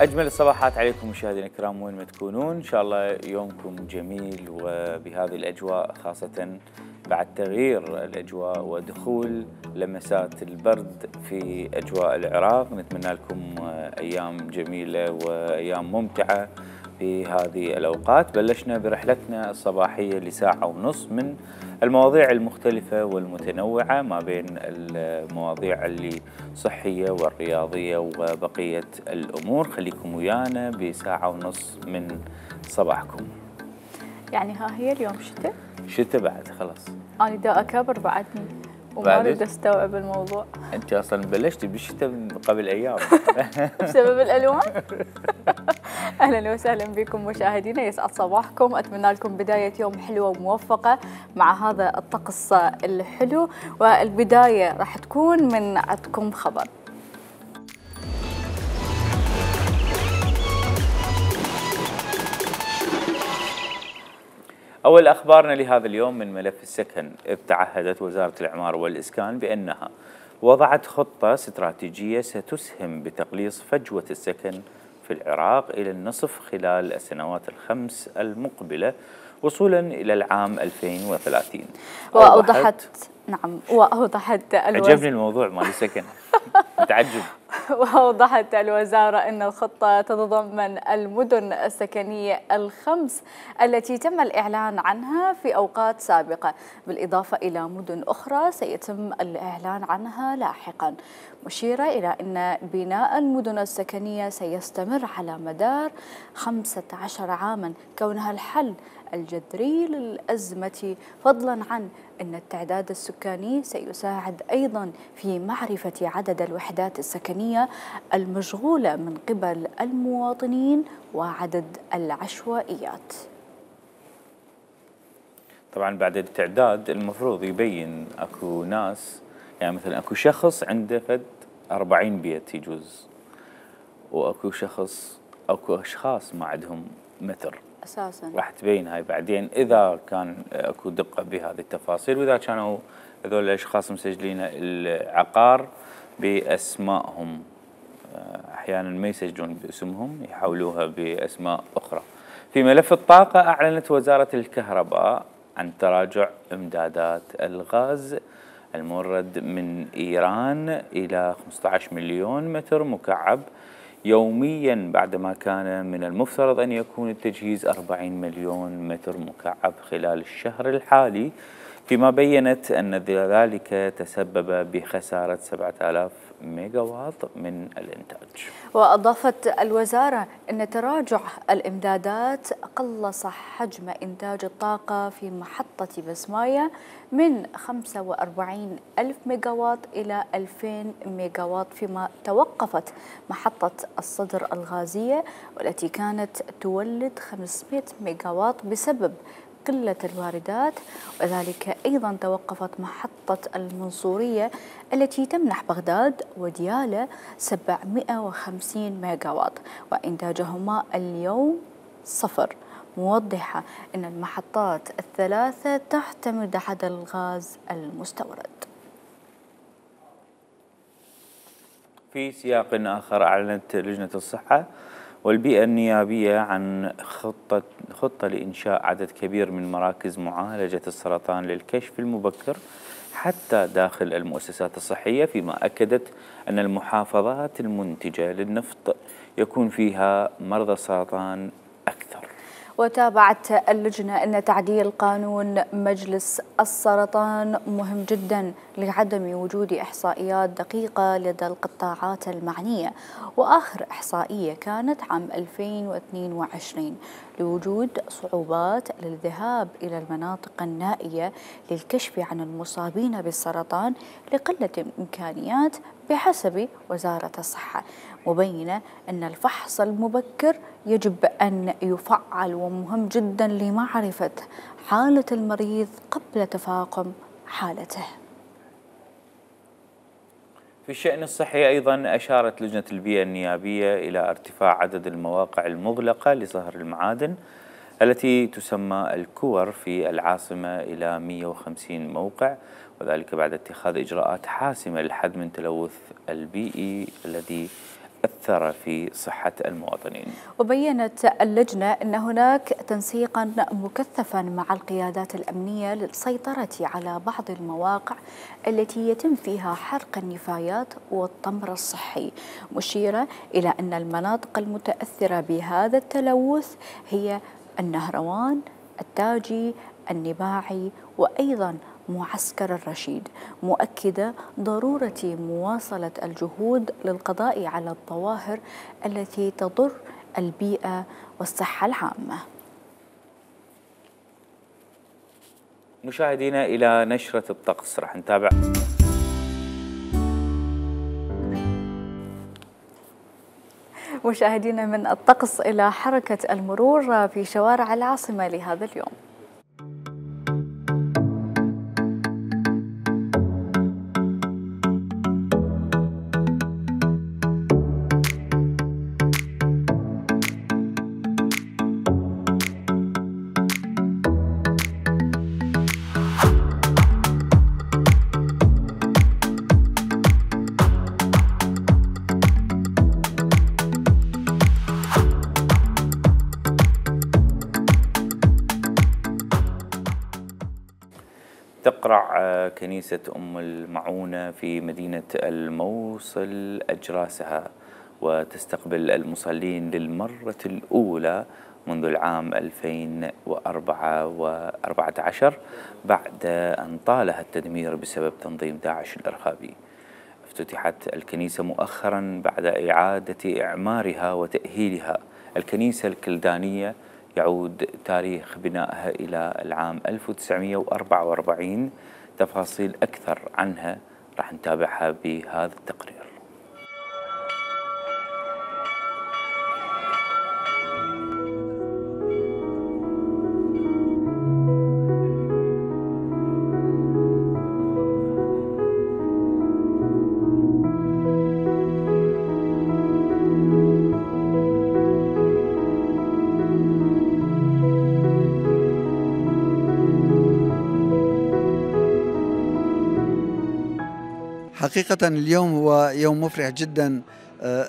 أجمل الصباحات عليكم مشاهدينا الكرام وين ما تكونون، إن شاء الله يومكم جميل وبهذه الأجواء، خاصة بعد تغيير الأجواء ودخول لمسات البرد في أجواء العراق. نتمنى لكم أيام جميلة وأيام ممتعة في هذه الأوقات. بلشنا برحلتنا الصباحية لساعة ونص من المواضيع المختلفة والمتنوعة ما بين المواضيع اللي صحية والرياضية وبقية الأمور. خليكم ويانا بساعة ونص من صباحكم. يعني ها هي اليوم شتاء؟ شتاء بعد خلاص. أنا دا أكبر بعدني وما أريد أستوعب الموضوع. أنت أصلا بلشتي بالشتاء قبل أيام بسبب الألوان؟ أهلا وسهلا بكم مشاهدينا، يسعد صباحكم، أتمنى لكم بداية يوم حلوة وموفقة مع هذا الطقس الحلو. والبداية راح تكون من عندكم خبر. أول أخبارنا لهذا اليوم من ملف السكن. إذ تعهدت وزارة الإعمار والإسكان بأنها وضعت خطة استراتيجية ستسهم بتقليص فجوة السكن في العراق إلى النصف خلال السنوات الخمس المقبلة وصولا إلى العام 2030. وأوضحت عجبني الموضوع مال السكن متعجب. وأوضحت الوزارة أن الخطة تتضمن المدن السكنية الخمس التي تم الإعلان عنها في أوقات سابقة، بالإضافة إلى مدن أخرى سيتم الإعلان عنها لاحقا، مشيرة إلى أن بناء المدن السكنية سيستمر على مدار 15 عاما، كونها الحل الجذري للأزمة، فضلا عن أن التعداد السكاني سيساعد أيضا في معرفة عدد الوحدات السكنية المشغولة من قبل المواطنين وعدد العشوائيات. طبعا بعد التعداد المفروض يبين اكو ناس، يعني مثلا اكو شخص عنده فد 40 بيت يجوز، واكو اشخاص ما عندهم متر اساسا. راح تبين هاي بعدين اذا كان اكو دقه بهذه التفاصيل، واذا كانوا هذول الاشخاص مسجلين العقار باسمائهم، احيانا ما يسجلون باسمهم يحولوها باسماء اخرى. في ملف الطاقه، اعلنت وزاره الكهرباء عن تراجع امدادات الغاز المورد من ايران الى 15 مليون متر مكعب يوميا، بعدما كان من المفترض أن يكون التجهيز 40 مليون متر مكعب خلال الشهر الحالي، فيما بيّنت أن ذلك تسبب بخسارة 7000 ميجاوات من الإنتاج. وأضافت الوزارة أن تراجع الإمدادات قلص حجم إنتاج الطاقة في محطة بسماية من 45 ألف ميجاوات إلى 2000 ميجاوات، فيما توقفت محطة الصدر الغازية والتي كانت تولد 500 ميجاوات بسبب قلة الواردات، وذلك أيضا توقفت محطة المنصورية التي تمنح بغداد وديالى 750 ميجاوات وإنتاجهما اليوم صفر، موضحة أن المحطات الثلاثة تعتمد على الغاز المستورد. في سياق آخر، أعلنت لجنة الصحة والبيئة النيابية عن خطة لإنشاء عدد كبير من مراكز معالجة السرطان للكشف المبكر حتى داخل المؤسسات الصحية، فيما أكدت أن المحافظات المنتجة للنفط يكون فيها مرضى السرطان أكثر. وتابعت اللجنة أن تعديل قانون مجلس السرطان مهم جدا لعدم وجود إحصائيات دقيقة لدى القطاعات المعنية، وآخر إحصائية كانت عام 2022 لوجود صعوبات للذهاب إلى المناطق النائية للكشف عن المصابين بالسرطان لقلة الإمكانيات بحسب وزارة الصحة، مبينة أن الفحص المبكر يجب أن يفعل ومهم جدا لمعرفة حالة المريض قبل تفاقم حالته. في الشأن الصحي أيضا، أشارت لجنة البيئة النيابية إلى ارتفاع عدد المواقع المغلقة لصهر المعادن التي تسمى الكور في العاصمة إلى 150 موقع، وذلك بعد اتخاذ إجراءات حاسمة للحد من التلوث البيئي الذي أثر في صحة المواطنين. وبيّنت اللجنة أن هناك تنسيقا مكثفا مع القيادات الأمنية للسيطرة على بعض المواقع التي يتم فيها حرق النفايات والتمر الصحي، مشيرة إلى أن المناطق المتأثرة بهذا التلوث هي النهروان، التاجي، النباعي، وأيضا معسكر الرشيد، مؤكدة ضرورة مواصلة الجهود للقضاء على الظواهر التي تضر البيئة والصحة العامة. مشاهدينا إلى نشرة الطقس راح نتابع. مشاهدينا من الطقس إلى حركة المرور في شوارع العاصمة لهذا اليوم. تقرع كنيسة أم المعونة في مدينة الموصل أجراسها وتستقبل المصلين للمرة الأولى منذ العام 2014 بعد أن طالها التدمير بسبب تنظيم داعش الإرهابي. افتتحت الكنيسة مؤخرا بعد إعادة إعمارها وتأهيلها. الكنيسة الكلدانية يعود تاريخ بنائها إلى العام 1944. تفاصيل أكثر عنها راح نتابعها بهذا التقرير. حقيقة اليوم هو يوم مفرح جدا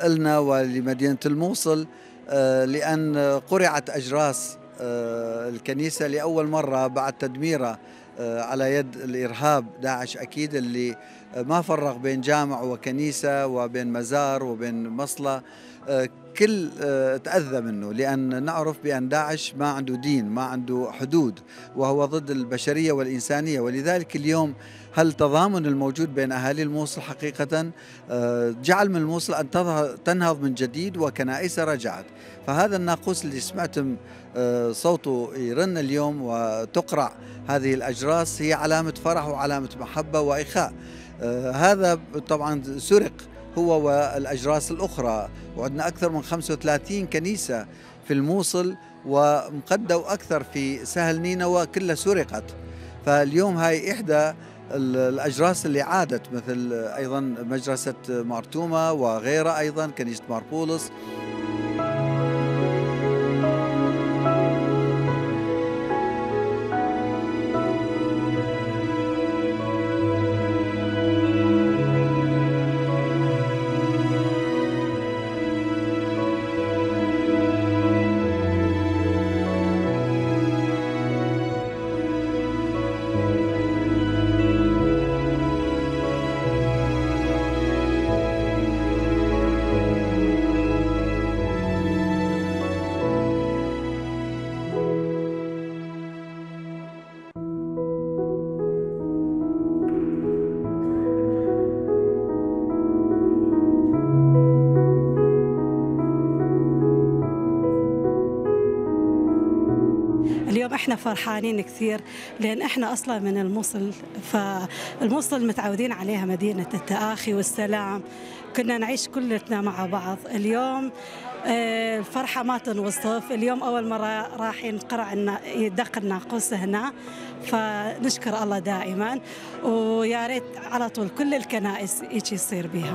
لنا ولمدينة الموصل، لأن قرعت أجراس الكنيسة لأول مرة بعد تدميرها على يد الإرهاب داعش، أكيد اللي ما فرق بين جامع وكنيسة وبين مزار وبين مصلى، كل تأذى منه، لأن نعرف بأن داعش ما عنده دين، ما عنده حدود، وهو ضد البشرية والإنسانية. ولذلك اليوم التضامن الموجود بين أهالي الموصل حقيقة جعل من الموصل أن تنهض من جديد وكنائسها رجعت. فهذا الناقوس اللي سمعتم صوته يرن اليوم وتقرع هذه الأجراس هي علامة فرح وعلامة محبة وإخاء. هذا طبعا سرق هو والأجراس الأخرى، وعندنا أكثر من 35 كنيسة في الموصل ومقدوا أكثر في سهل نينوى كلها سرقت. فاليوم هاي إحدى الأجراس اللي عادت، مثل أيضا مجرسة مارتومة وغيرها، أيضا كنيسة ماربولس. اليوم احنا فرحانين كثير لان احنا اصلا من الموصل، فالموصل متعودين عليها مدينة التآخي والسلام، كنا نعيش كلنا مع بعض. اليوم الفرحة ما تنوصف. اليوم أول مرة راح ينقرع يدق الناقوس هنا، فنشكر الله دائما، ويا ريت على طول كل الكنائس هيك يصير بها.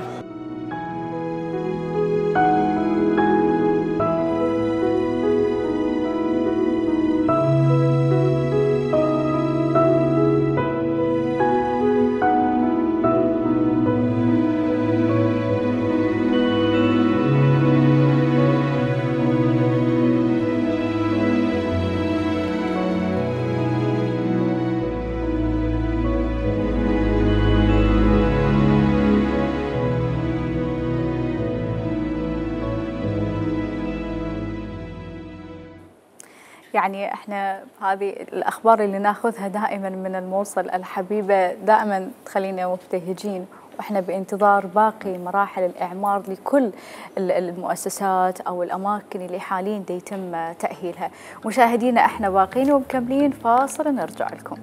يعني احنا هذه الاخبار اللي ناخذها دائما من الموصل الحبيبه دائما تخلينا مبتهجين، واحنا بانتظار باقي مراحل الاعمار لكل المؤسسات او الاماكن اللي حاليا يتم تاهيلها. مشاهدينا احنا باقين ومكملين، فاصل نرجع لكم.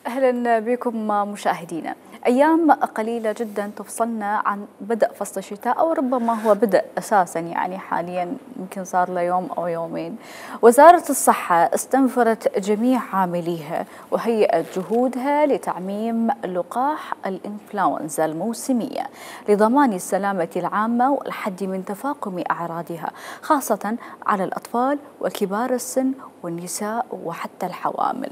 أهلا بكم مشاهدينا. أيام قليلة جدا تفصلنا عن بدء فصل الشتاء، أو ربما هو بدء أساسا، يعني حاليا يمكن صار له يوم أو يومين. وزارة الصحة استنفرت جميع عامليها وهيئت جهودها لتعميم لقاح الإنفلونزا الموسمية لضمان السلامة العامة والحد من تفاقم أعراضها، خاصة على الأطفال وكبار السن والنساء وحتى الحوامل.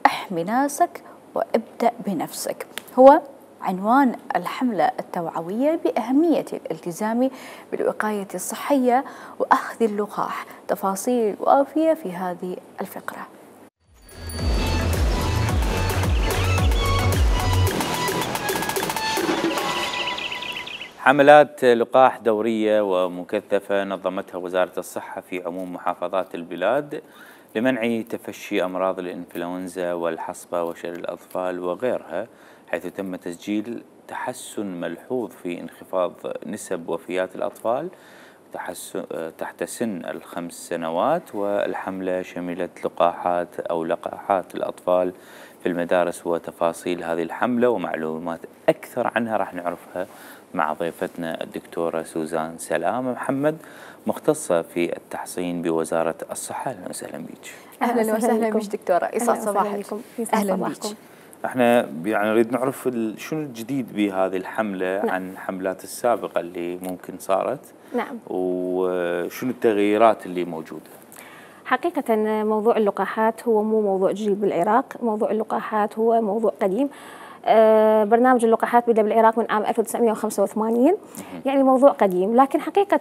احمي ناسك وابدأ بنفسك هو عنوان الحملة التوعوية بأهمية الالتزام بالوقاية الصحية وأخذ اللقاح. تفاصيل وافية في هذه الفقرة. حملات لقاح دورية ومكثفة نظمتها وزارة الصحة في عموم محافظات البلاد لمنع تفشي أمراض الإنفلونزا والحصبة وشلل الأطفال وغيرها، حيث تم تسجيل تحسن ملحوظ في انخفاض نسب وفيات الأطفال تحت سن ال5 سنوات. والحملة شملت لقاحات الأطفال في المدارس. وتفاصيل هذه الحملة ومعلومات أكثر عنها راح نعرفها مع ضيفتنا الدكتورة سوزان سلام محمد، مختصة في التحصين بوزارة الصحة. أهلا وسهلا بك. أهلا وسهلا بك دكتورة، يسعد صباحك. أهلا بك. احنا يعني نريد نعرف شنو الجديد بهذه الحملة عن الحملات السابقة اللي ممكن صارت. نعم. وشنو التغييرات اللي موجودة؟ حقيقة موضوع اللقاحات هو مو موضوع جديد بالعراق، موضوع اللقاحات هو موضوع قديم. برنامج اللقاحات بدأ بالعراق من عام 1985، يعني موضوع قديم. لكن حقيقة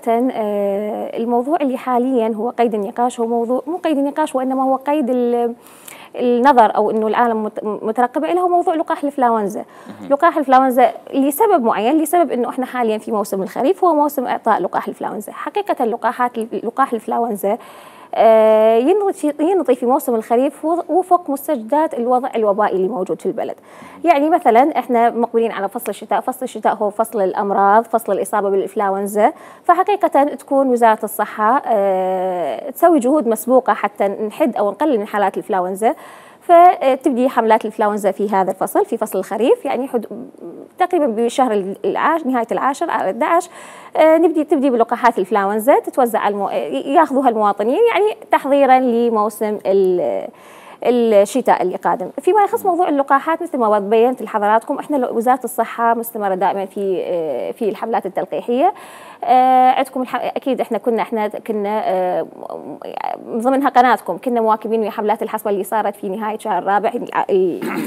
الموضوع اللي حاليا هو قيد النقاش هو موضوع مو قيد النقاش، وإنما هو قيد النظر، أو إنه العالم مترقبة إليه، هو موضوع لقاح الإنفلونزا. لقاح الإنفلونزا لسبب معين، لسبب إنه إحنا حاليا في موسم الخريف، هو موسم إعطاء لقاح الإنفلونزا. حقيقة لقاح الإنفلونزا ينطي في موسم الخريف وفق مستجدات الوضع الوبائي اللي موجود في البلد. يعني مثلا احنا مقبلين على فصل الشتاء، فصل الشتاء هو فصل الامراض، فصل الاصابه بالانفلونزا. فحقيقه تكون وزاره الصحه تسوي جهود مسبوقه حتى نحد او نقلل من حالات الانفلونزا. فتبدي حملات الانفلونزا في هذا الفصل، في فصل الخريف، يعني تقريبا بشهر العاشر، نهايه العاشر على 11 تبدي بلقاحات الانفلونزا تتوزع ياخذوها المواطنين، يعني تحضيرا لموسم الشتاء اللي قادم. فيما يخص موضوع اللقاحات مثل ما بينت لحضراتكم، احنا وزاره الصحه مستمره دائما في الحملات التلقيحيه. عندكم اكيد احنا كنا ضمنها قناتكم كنا مواكبين ويا حملات الحصبه اللي صارت في نهايه شهر الرابع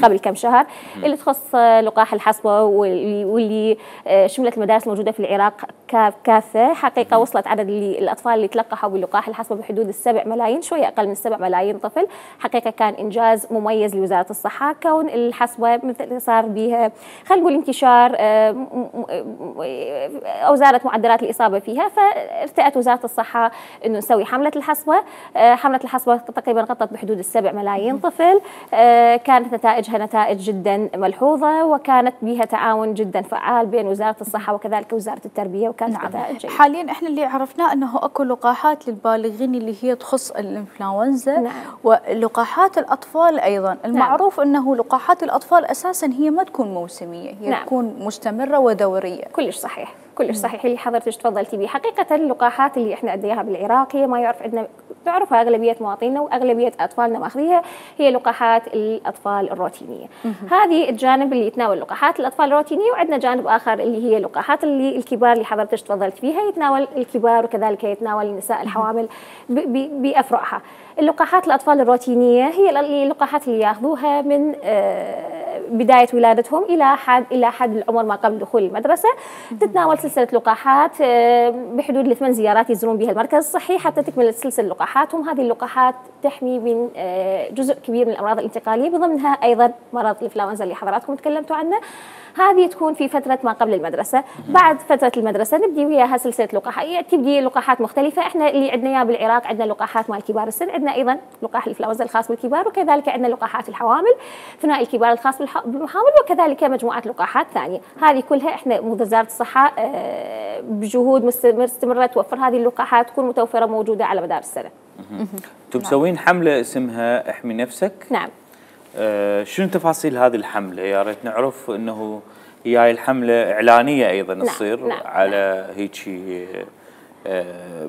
قبل كم شهر، اللي تخص لقاح الحصبه، واللي شملت المدارس الموجوده في العراق كافه. حقيقه وصلت عدد الاطفال اللي تلقحوا بلقاح الحصبه بحدود 7 ملايين، شويه اقل من 7 ملايين طفل. حقيقه كان انجاز مميز لوزاره الصحه، كون الحصبه مثل صار بها خلينا نقول انتشار او زادت معدلات الإصابة فيها، فارتأت وزارة الصحة إنه نسوي حملة الحصبة. حملة الحصبة تقريبا غطت بحدود 7 ملايين طفل. كانت نتائجها نتائج جدا ملحوظة، وكانت بها تعاون جدا فعال بين وزارة الصحة وكذلك وزارة التربية، وكانت نتائج جيدة. حاليا احنا اللي عرفناه انه اكو لقاحات للبالغين اللي هي تخص الانفلونزا، ولقاحات الاطفال ايضا. المعروف انه لقاحات الاطفال اساسا هي ما تكون موسمية، هي تكون مستمرة ودورية. كلش صحيح، كلش صحيح اللي حضرتك تفضلتي به. حقيقة اللقاحات اللي احنا اديها بالعراق هي ما يعرف عندنا، تعرفها اغلبية مواطنينا واغلبية اطفالنا ماخذيها، هي لقاحات الاطفال الروتينية. هذه الجانب اللي يتناول لقاحات الاطفال الروتينية، وعندنا جانب اخر اللي هي لقاحات اللي الكبار اللي حضرتك تفضلت فيها، يتناول الكبار وكذلك يتناول النساء الحوامل بافرعها. اللقاحات الاطفال الروتينية هي اللقاحات اللي ياخذوها من بدايه ولادتهم الى حد العمر ما قبل دخول المدرسه. تتناول سلسله لقاحات بحدود ل8 زيارات يزورون بها المركز الصحي حتى تكمل سلسله لقاحاتهم. هذه اللقاحات تحمي من جزء كبير من الامراض الانتقاليه، بضمنها ايضا مرض الانفلونزا اللي حضراتكم تكلمتوا عنه. هذه تكون في فتره ما قبل المدرسه. بعد فتره المدرسه نبدي وياها سلسله لقاحات، تبدي لقاحات مختلفه. احنا اللي عندنا اياه بالعراق عندنا لقاحات مال كبار السن، عندنا ايضا لقاح الانفلونزا الخاص بالكبار، وكذلك عندنا لقاحات الحوامل، ثنائي الكبار الخاص بالحوامل، وكذلك مجموعه لقاحات ثانيه. هذه كلها احنا وزاره الصحه بجهود مستمره توفر هذه اللقاحات، تكون متوفره موجوده على مدار السنه. انتم مسوين حمله اسمها احمي نفسك؟ نعم. شنو تفاصيل هذه الحمله؟ يا ريت نعرف انه هي هاي الحمله اعلانيه ايضا تصير على هيك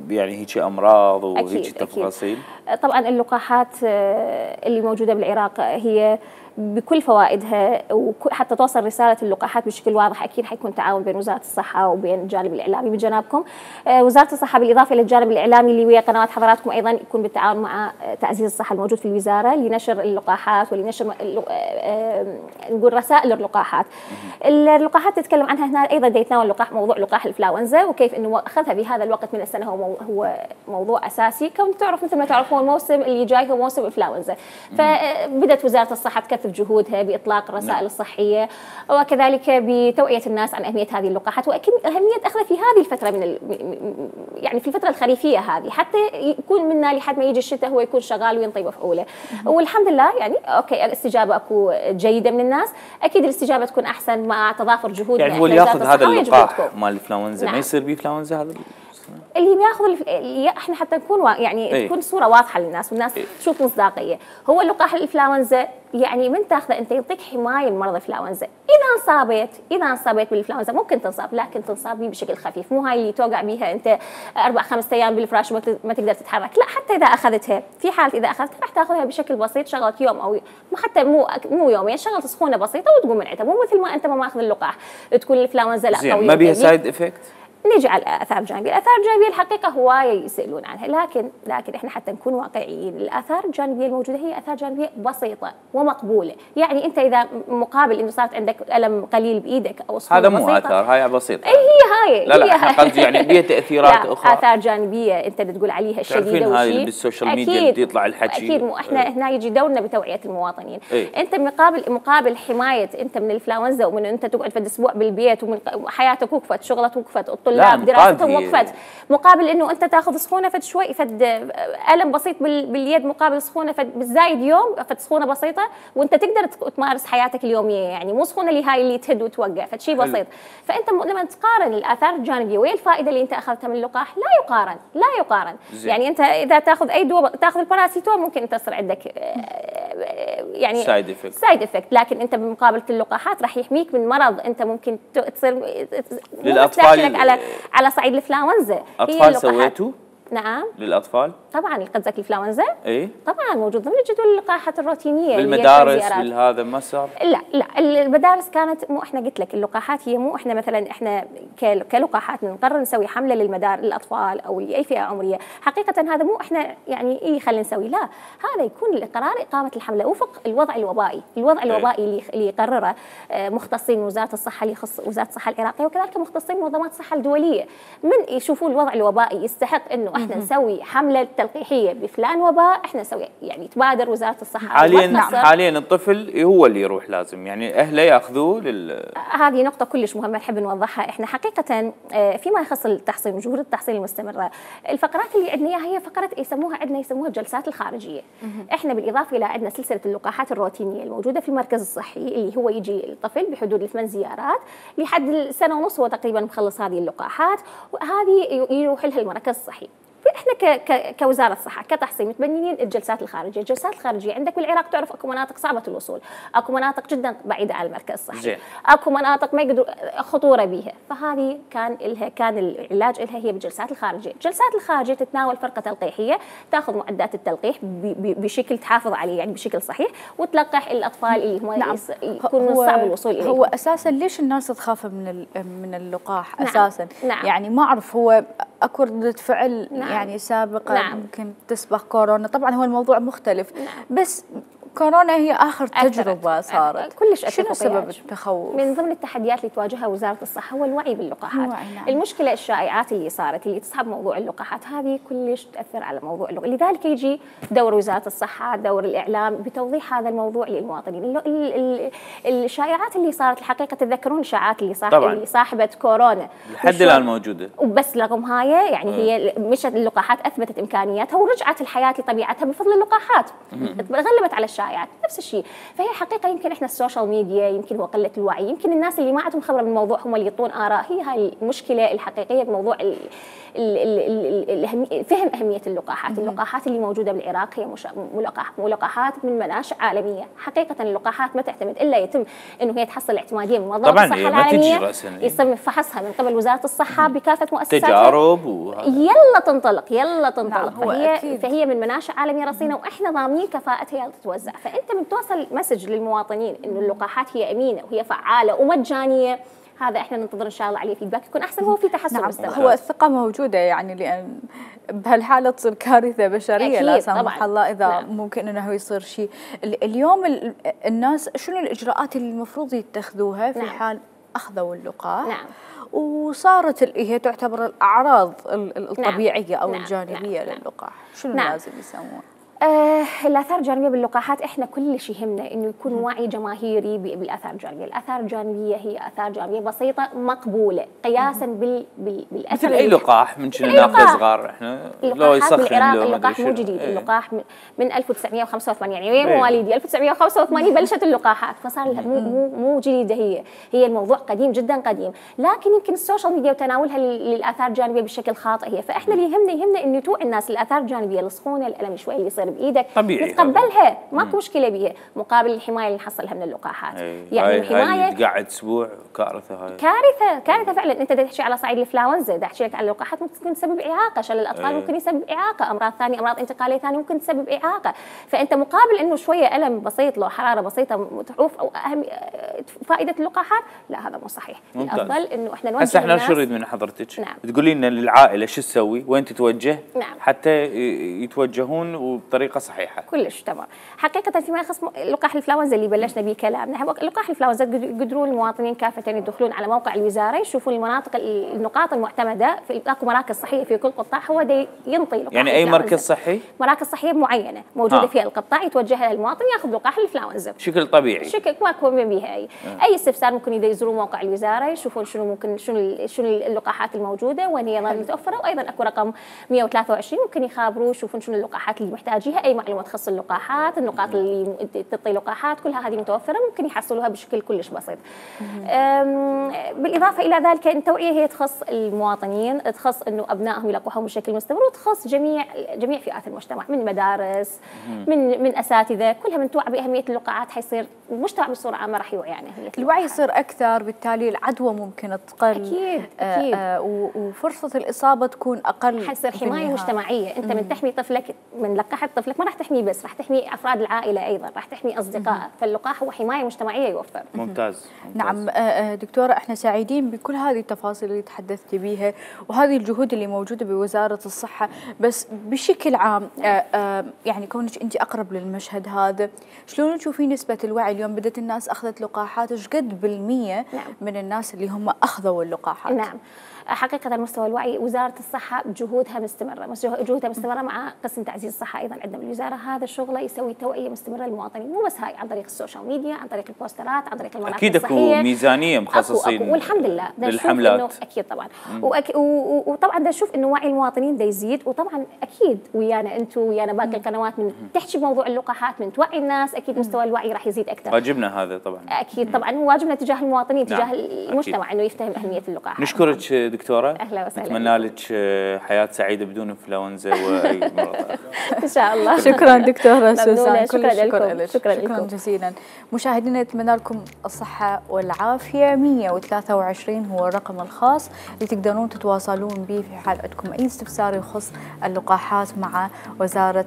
يعني هيك امراض وهيك تفاصيل. طبعا اللقاحات اللي موجوده بالعراق هي بكل فوائدها، وحتى توصل رساله اللقاحات بشكل واضح اكيد حيكون تعاون بين وزاره الصحه وبين الجانب الاعلامي من جنابكم. وزاره الصحه بالاضافه الى الجانب الاعلامي اللي ويا قنوات حضراتكم ايضا يكون بالتعاون مع تعزيز الصحه الموجود في الوزاره لنشر اللقاحات ولنشر نقول رسائل اللقاحات. اللقاحات تتكلم عنها هنا ايضا يتناول موضوع لقاح الانفلونزا وكيف انه اخذها بهذا الوقت من السنه هو موضوع اساسي. كون تعرف مثل ما تعرفون الموسم اللي جاي هو موسم انفلونزا، فبدت وزاره الصحه تكثف جهودها باطلاق الرسائل الصحيه وكذلك بتوعيه الناس عن اهميه هذه اللقاحات واكيد اهميه اخذها في هذه الفتره يعني في الفتره الخريفيه هذه، حتى يكون منا لحد ما يجي الشتاء هو يكون شغال وينطي مفعوله. والحمد لله يعني اوكي الاستجابه اكو جيده من الناس، اكيد الاستجابه تكون احسن مع تضافر جهود. يعني هو اللي ياخذ هذا اللقاح مال الانفلونزا ما يصير بيه انفلونزا هذا اللي بياخذ احنا حتى نكون يعني تكون صوره واضحه للناس والناس تشوف مصداقيه. هو اللقاح الانفلونزا يعني من تاخذه انت يعطيك حمايه من مرض الانفلونزا. اذا انصابت بالانفلونزا ممكن تنصاب، لكن تنصاب به بشكل خفيف، مو هاي اللي توقع بها انت 4-5 ايام بالفراش وما تقدر تتحرك. لا، حتى اذا اخذتها في حاله اذا اخذتها راح تاخذها بشكل بسيط، شغله يوم او حتى مو يومين، شغله سخونه بسيطه وتقوم من عندها، مو مثل ما انت ما ماخذ اللقاح تكون الانفلونزا لا قويه. ما بيها سايد افكت. نيجي على الاثار الجانبيه، الاثار الجانبيه الحقيقه هوايه يسالون عنها، لكن احنا حتى نكون واقعيين، الاثار الجانبيه الموجوده هي اثار جانبيه بسيطه ومقبوله. يعني انت اذا مقابل انه صارت عندك الم قليل بايدك او صوره هذا مو اثار، هاي بسيطه. هي لا احنا قصدي يعني بيها تاثيرات اخرى، اثار جانبيه انت تقول عليها الشديده وشيء. هاي بالسوشيال ميديا بده يطلع الحكي اكيد. مو احنا هنا يجي دورنا بتوعيه المواطنين. انت مقابل حمايه انت من الانفلونزا ومن انت تقعد في اسبوع بالبيت ومن حياتك وقفت، شغلك وقفت، الطلاب دراستهم وقفت، مقابل انه انت تاخذ سخونه فد شوي فد الم بسيط باليد مقابل سخونه فد بالزايد يوم فد سخونه بسيطه وانت تقدر تمارس حياتك اليوميه، يعني مو سخونه اللي هاي اللي تهد وتوقع فد شيء بسيط. فانت لما تقارن الاثار الجانبيه ويا الفائده اللي انت اخذتها من اللقاح لا يقارن. يعني انت اذا تاخذ اي دواء، تاخذ الباراسيتامول ممكن تصير عندك يعني سايد افكت، لكن انت بمقابله اللقاحات راح يحميك من مرض انت ممكن تصير للاطفال على صعيد الانفلونزا. اطفال سويتوا؟ نعم للاطفال طبعا. قصدك الانفلونزا؟ اي طبعا موجود ضمن جدول اللقاحات الروتينيه بالمدارس بالهذا ما صار؟ لا المدارس كانت مو احنا قلت لك اللقاحات هي مو احنا مثلا احنا كلقاحات نقرر نسوي حمله للاطفال او لاي فئه عمريه، حقيقه هذا مو احنا يعني خلينا نسوي، لا هذا يكون القرار اقامه الحمله وفق الوضع الوبائي اللي يقرره مختصين وزاره الصحه اللي يخص وزاره الصحه العراقيه وكذلك مختصين منظمات الصحه الدوليه من يشوفوا الوضع الوبائي يستحق انه احنا نسوي حمله تلقيحيه بفلان وباء، احنا نسوي يعني تبادر وزاره الصحه. حاليا الطفل هو اللي يروح لازم يعني اهله ياخذوه هذه نقطه كلش مهمه نحب نوضحها. احنا حقيقه فيما يخص التحصين وجهود التحصين المستمره، الفقرات اللي عندنا اياها هي فقرات يسموها الجلسات الخارجيه. احنا بالاضافه الى عندنا سلسله اللقاحات الروتينيه الموجوده في المركز الصحي اللي هو يجي الطفل بحدود 8 زيارات لحد سنه ونص هو تقريبا مخلص هذه اللقاحات، وهذه يروح لها المركز الصحي. احنا كوزاره الصحه كتحصين متبنيين الجلسات الخارجيه. الجلسات الخارجيه عندك بالعراق تعرف اكو مناطق صعبه الوصول، اكو مناطق جدا بعيده عن المركز الصحي، اكو مناطق ما يقدروا خطوره بها، فهذه كان العلاج لها هي بالجلسات الخارجيه. الجلسات الخارجيه تتناول فرقه تلقيحيه تاخذ معدات التلقيح بشكل تحافظ عليه يعني بشكل صحيح وتلقح الاطفال اللي هم يكونوا صعب الوصول اليه. هو اساسا ليش الناس تخاف من اللقاح اساسا؟ يعني ما اعرف، هو اكو ردة فعل يعني سابقه ممكن تسبق كورونا، طبعا هو الموضوع مختلف بس كورونا هي آخر تجربة صارت، كلش شنو سبب التخوف؟ من ضمن التحديات اللي تواجهها وزارة الصحة هو الوعي باللقاحات. نعم. المشكلة الشائعات اللي صارت اللي تصحب موضوع اللقاحات هذه كلش تأثر على موضوع اللقاح، لذلك يجي دور وزارة الصحة، دور الإعلام بتوضيح هذا الموضوع للمواطنين. الشائعات اللي صارت الحقيقة تتذكرون الشائعات اللي صاحبت كورونا لحد الآن موجودة، وبس رغم هاي يعني هي مشت اللقاحات أثبتت إمكانياتها ورجعت الحياة لطبيعتها بفضل اللقاحات، غلبت على الشائعات نفس الشيء. فهي حقيقة يمكن إحنا السوشيال ميديا، يمكن هو قلة الوعي، يمكن الناس اللي ما عندهم خبرة بالموضوع هم اللي يعطون آراء. هي هاي المشكلة الحقيقية بموضوع فهم أهمية اللقاحات. اللقاحات اللي موجودة بالعراق هي ملقاحات من مناشئ عالمية. حقيقة اللقاحات ما تعتمد إلا يتم إنه هي تحصل اعتمادية من منظمة الصحة العالمية، يتم فحصها من قبل وزارة الصحة بكافة مؤسساتها، تجارب يلا تنطلق. نعم فهي من مناشئ عالمية رصينة وإحنا ضامنين كفاءتها يلا تتوزع. فأنت من توصل مسج للمواطنين إنه اللقاحات هي أمينة وهي فعالة ومجانية، هذا احنا ننتظر ان شاء الله عليه فيدباك يكون احسن. هو في تحسن مستمر. هو الثقه موجوده يعني، لان بهالحاله تصير كارثه بشريه لا سمح الله اذا ممكن انه يصير شيء. اليوم الناس شنو الاجراءات اللي المفروض يتخذوها في حال اخذوا اللقاح؟ وصارت هي تعتبر الاعراض الطبيعيه او الجانبيه للقاح، شنو لازم يسوون؟ الآثار الجانبية باللقاحات احنا كل شيء يهمنا انه يكون وعي جماهيري بالآثار الجانبية. الآثار الجانبية هي آثار جانبية بسيطة مقبولة قياسا بالأثر. مثل أي لقاح من شنو ناخذ صغار احنا لو يسخن بالعراق اللقاح مو جديد. اللقاح من 1985 يعني وين مواليدي 1985 بلشت اللقاحات، فصار مو جديدة. هي الموضوع قديم جدا قديم، لكن يمكن السوشيال ميديا وتناولها للآثار الجانبية بشكل خاطئ هي. فاحنا اللي يهمنا انه توعي الناس الآثار الجانبية، السخونة، الألم شوي اللي يصير بايدك طبيعي نتقبلها، ماكو مشكله بها مقابل الحمايه اللي نحصلها من اللقاحات. يعني الحمايه تقعد اسبوع كارثه. هاي كارثه فعلا. انت تحكي على صعيد الانفلونزا، احكي لك على اللقاحات ممكن تسبب اعاقه، شلل الاطفال ممكن يسبب اعاقه، امراض ثانيه، امراض انتقاليه ثانيه ممكن تسبب اعاقه. فانت مقابل انه شويه الم بسيط لو حراره بسيطه تحوف او اهم فائده اللقاحات، لا هذا مو صحيح. الافضل انه احنا نوجه هسه احنا شو نريد من حضرتك؟ تقولي لنا للعائله شو تسوي، وين تتوجه حتى يتوجهون وبطريقه صحيحه. كلش تمام. حقيقة فيما يخص لقاح الانفلونزا اللي بلشنا به كلامنا، لقاح الانفلونزا قدروا المواطنين كافة يدخلون على موقع الوزارة يشوفون النقاط المعتمدة في اكو مراكز صحية في كل قطاع، هو ينطي لقاح يعني اي مركز صحي؟ مراكز صحية معينة موجودة في القطاع يتوجه لها المواطن ياخذ لقاح الانفلونزا بشكل طبيعي. شكل ماكو بها اي استفسار ممكن يزورون موقع الوزارة يشوفون شنو اللقاحات الموجودة وين هي متوفرة، وايضا اكو رقم 123 ممكن يخابروا يشوفون شنو اللقاحات اللي محتاجيها، اي معلومات تخص اللقاحات، النقاط اللي تعطي لقاحات كلها هذه متوفره ممكن يحصلوها بشكل كلش بسيط. بالاضافه الى ذلك التوعيه هي تخص المواطنين، تخص انه ابنائهم يلقحون بشكل مستمر، وتخص جميع فئات المجتمع من مدارس من اساتذه، كلها من توعى باهميه اللقاحات حيصير المجتمع بصوره عامه راح يوعي يعني الوعي يصير اكثر، بالتالي العدوى ممكن تقل اكيد وفرصه الاصابه تكون اقل، حيصير حمايه مجتمعيه. انت من تحمي طفلك، من لقحت طفلك ما راح تحمي بس، راح تحمي افراد العائله ايضا، راح تحمي اصدقائك، فاللقاح هو حمايه مجتمعيه يوفر. ممتاز. نعم دكتوره، احنا سعيدين بكل هذه التفاصيل اللي تحدثتي بيها وهذه الجهود اللي موجوده بوزاره الصحه، بس بشكل عام يعني كونك انت اقرب للمشهد هذا، شلون تشوفين نسبه الوعي اليوم؟ بدت الناس اخذت لقاحات، ايش قد بالمية من الناس اللي هم اخذوا اللقاحات؟ نعم حقيقة مستوى الوعي وزارة الصحة جهودها مستمرة مع قسم تعزيز الصحة أيضا عندنا بالوزارة. هذا الشغل يسوي توعية مستمرة للمواطنين، مو بس هاي، عن طريق السوشيال ميديا، عن طريق البوسترات، عن طريق المراكز أكيد الصحية. أكو ميزانية مخصصين والحمد لله للحملات. أكيد طبعا. وطبعا دا نشوف إنه وعي المواطنين دا يزيد، وطبعا أكيد ويانا أنتم ويانا باقي القنوات من تحكي بموضوع اللقاحات، من توعي الناس، أكيد مستوى الوعي راح يزيد أكثر. واجبنا هذا طبعا. أكيد طبعا واجبنا تجاه المواطنين، تجاه المجتمع إنه يفتهم أهمية اللقاحات. نشكرك دكتورة. أهلا وسهلا. نتمنى لك حياة سعيدة بدون انفلونزا واي مرض اخر. ان شاء الله. شكرا دكتورة سوسن، شكرا لكم. شكرا جزيلا. مشاهدينا نتمنى لكم الصحة والعافية. 123 هو الرقم الخاص اللي تقدرون تتواصلون به في حال عندكم اي استفسار يخص اللقاحات مع وزارة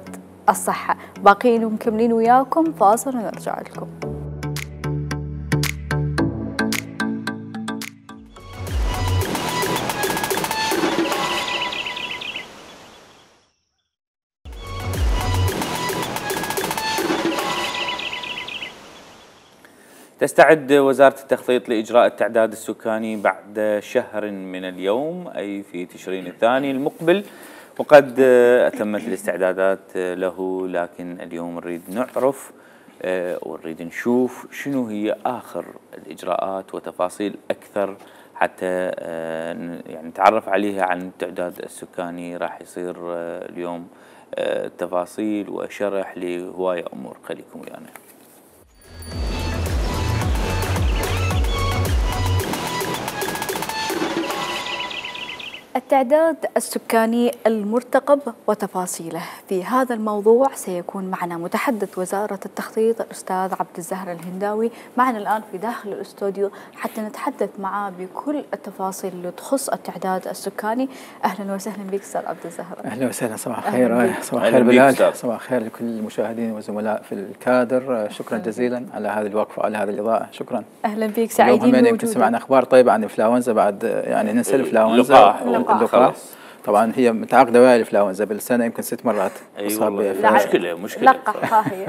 الصحة. باقيين ومكملين وياكم، فاصل ونرجع لكم. تستعد وزارة التخطيط لإجراء التعداد السكاني بعد شهر من اليوم، أي في تشرين الثاني المقبل، وقد أتمت الاستعدادات له. لكن اليوم نريد نعرف ونريد نشوف شنو هي آخر الإجراءات وتفاصيل أكثر حتى يعني نتعرف عليها عن التعداد السكاني. راح يصير اليوم تفاصيل وشرح لهواية أمور. خليكم ويانا. التعداد السكاني المرتقب وتفاصيله. في هذا الموضوع سيكون معنا متحدث وزارة التخطيط الأستاذ عبد الزهر الهنداوي معنا الآن في داخل الاستوديو حتى نتحدث معه بكل التفاصيل اللي تخص التعداد السكاني. أهلا وسهلا بك أستاذ عبد الزهر. أهلا وسهلا، صباح الخير. صباح الخير بلال، صباح الخير لكل المشاهدين والزملاء في الكادر. شكرا جزيلا على هذه الوقفة وعلى هذه الإضاءة. شكرا. أهلا بك، سعيدين بوجودك. يمكن سمعنا أخبار طيبة عن الإنفلونزا بعد، يعني ننسى الإنفلونزا. اللقاح طبعا هي متعاقده ويا الانفلونزا بالسنه يمكن 6 مرات. مشكله لقحها هي.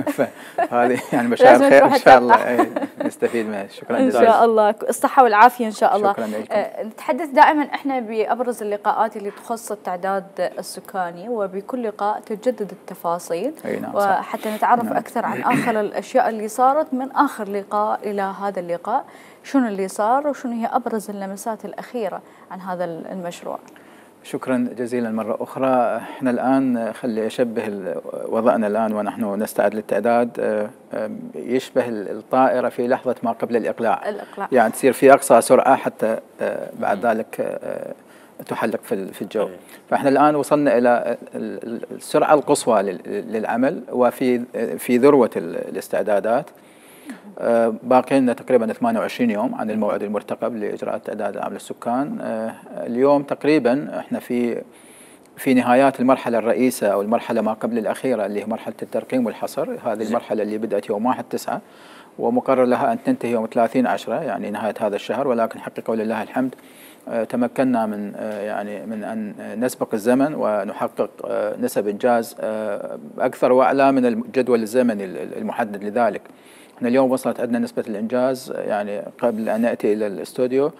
هذه يعني مشاعر خير ان شاء الله نستفيد منها. شكرا جزيلا. ان شاء الله الصحه والعافيه ان شاء الله. شكرا لكم. نتحدث دائما احنا بابرز اللقاءات اللي تخص التعداد السكاني، وبكل لقاء تجدد التفاصيل. نعم، وحتى نتعرف اكثر عن اخر الاشياء اللي صارت من اخر لقاء الى هذا اللقاء، شنو اللي صار وشنو هي ابرز اللمسات الاخيره عن هذا المشروع. شكرا جزيلا مرة أخرى. احنا الآن خلي أشبه وضعنا الآن ونحن نستعد للتعداد يشبه الطائرة في لحظة ما قبل الإقلاع. يعني تصير في أقصى سرعة حتى بعد ذلك تحلق في الجو. فاحنا الآن وصلنا إلى السرعة القصوى للعمل وفي ذروة الاستعدادات. باقي لنا تقريبا 28 يوم عن الموعد المرتقب لإجراء التعداد العام للسكان. اليوم تقريبا احنا في نهايات المرحلة الرئيسة أو المرحلة ما قبل الأخيرة اللي هي مرحلة الترقيم والحصر. هذه المرحلة اللي بدأت يوم 1/9 ومقرر لها أن تنتهي يوم 30/10 يعني نهاية هذا الشهر. ولكن حقيقة ولله الحمد تمكنا من أن نسبق الزمن ونحقق نسب إنجاز أكثر وأعلى من الجدول الزمني المحدد لذلك. احنا اليوم وصلت عندنا نسبة الإنجاز، يعني قبل أن نأتي إلى الاستوديو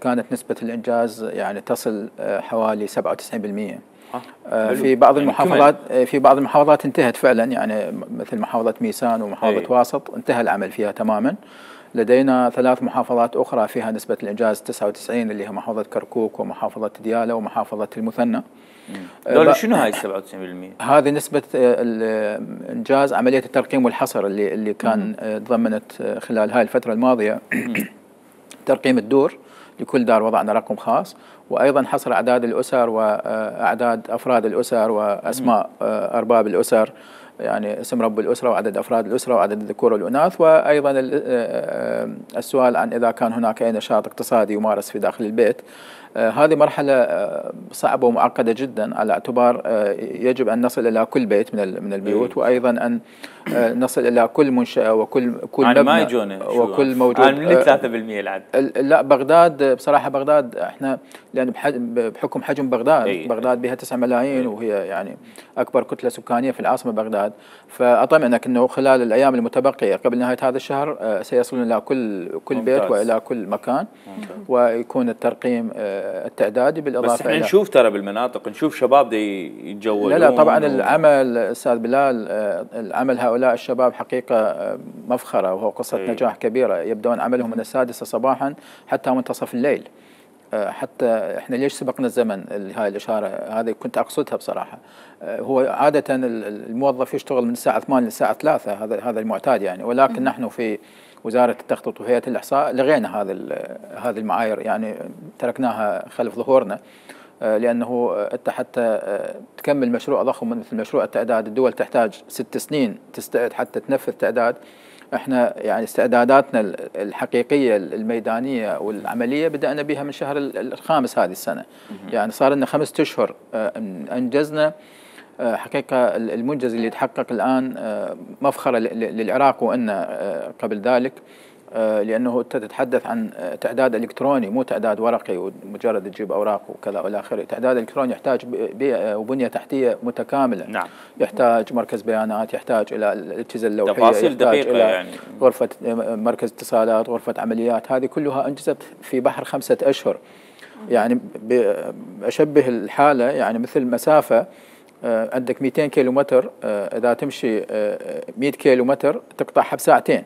كانت نسبة الإنجاز يعني تصل حوالي 97%. في بعض المحافظات انتهت فعلا، يعني مثل محافظة ميسان ومحافظة واسط انتهى العمل فيها تماما. لدينا 3 محافظات أخرى فيها نسبة الإنجاز 99 اللي هي محافظة كركوك ومحافظة ديالى ومحافظة المثنى. دول شنو هاي 97%؟ هذه نسبة الإنجاز عملية الترقيم والحصر اللي كان تضمنت خلال هاي الفترة الماضية ترقيم الدور. لكل دار وضعنا رقم خاص، وأيضا حصر أعداد الأسر وأعداد أفراد الأسر وأسماء أرباب الأسر، يعني اسم رب الأسرة وعدد أفراد الأسرة وعدد الذكور والإناث، وأيضا السؤال عن إذا كان هناك أي نشاط اقتصادي يمارس في داخل البيت. هذه مرحلة صعبة ومعقدة جدا على اعتبار يجب أن نصل إلى كل بيت من البيوت، وأيضا أن نصل إلى كل منشأة وكل مبنى وكل موجود. من 3% العدد؟ لا، بغداد بصراحة بغداد احنا لأن بحكم حجم بغداد بها 9 ملايين وهي يعني أكبر كتلة سكانية في العاصمة بغداد. فأطمئنك أنه خلال الأيام المتبقية قبل نهاية هذا الشهر سيصلون إلى كل بيت وإلى كل مكان، ويكون الترقيم التعدادي بالإضافة. بس احنا نشوف ترى بالمناطق نشوف شباب يتجولون. لا طبعا العمل أستاذ بلال، العمل هؤلاء الشباب حقيقة مفخرة وهو قصة نجاح كبيرة. يبدأون عملهم من 6 صباحا حتى منتصف الليل. حتى احنا ليش سبقنا الزمن؟ هاي الإشارة هذه كنت أقصدها بصراحة. هو عادة الموظف يشتغل من الساعة 8 للساعة 3، هذا المعتاد يعني. ولكن نحن في وزارة التخطيط وهيئة الإحصاء لغينا هذه المعايير، يعني تركناها خلف ظهورنا، لأنه أنت حتى تكمل مشروع ضخم مثل مشروع التعداد الدول تحتاج 6 سنين تستعد حتى تنفذ تعداد. احنا يعني استعداداتنا الحقيقية الميدانية والعملية بدأنا بها من شهر الخامس هذه السنة. يعني صار لنا 5 أشهر أنجزنا. حقيقة المنجز اللي يتحقق الآن مفخرة للعراق وإن قبل ذلك. لأنه أنت تتحدث عن تعداد إلكتروني مو تعداد ورقي ومجرد تجيب أوراق وكذا والى آخره. تعداد إلكتروني يحتاج بيئة وبنية تحتية متكاملة. نعم. يحتاج مركز بيانات، يحتاج إلى الأجهزة اللوحية، تفاصيل دقيقة إلى يعني. غرفة مركز اتصالات، غرفة عمليات، هذه كلها أنجزت في بحر 5 أشهر. يعني أشبه الحالة يعني مثل مسافة عندك 200 كيلو متر، إذا تمشي 100 كيلو متر تقطعها بساعتين.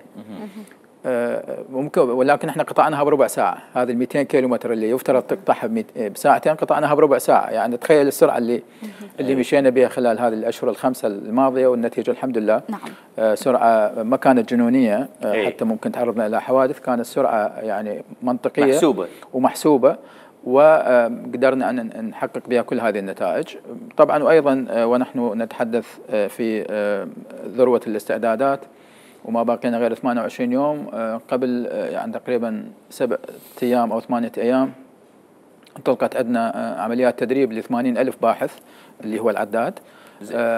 ممكن، ولكن احنا قطعناها بربع ساعة. هذه ال 200 كيلو متر اللي يفترض تقطعها بساعتين قطعناها بربع ساعة. يعني تخيل السرعة اللي مشينا بها خلال هذه الأشهر الخمسة الماضية، والنتيجة الحمد لله. نعم. سرعة ما كانت جنونية، حتى ممكن تعرضنا إلى حوادث. كانت السرعة يعني منطقية محسوبة ومحسوبة، وقدرنا أن نحقق بها كل هذه النتائج. طبعا وأيضا ونحن نتحدث في ذروة الاستعدادات وما باقينا غير 28 يوم، قبل يعني تقريبا 7 أيام أو 8 أيام انطلقت عندنا عمليات تدريب ل 80,000 باحث اللي هو العداد.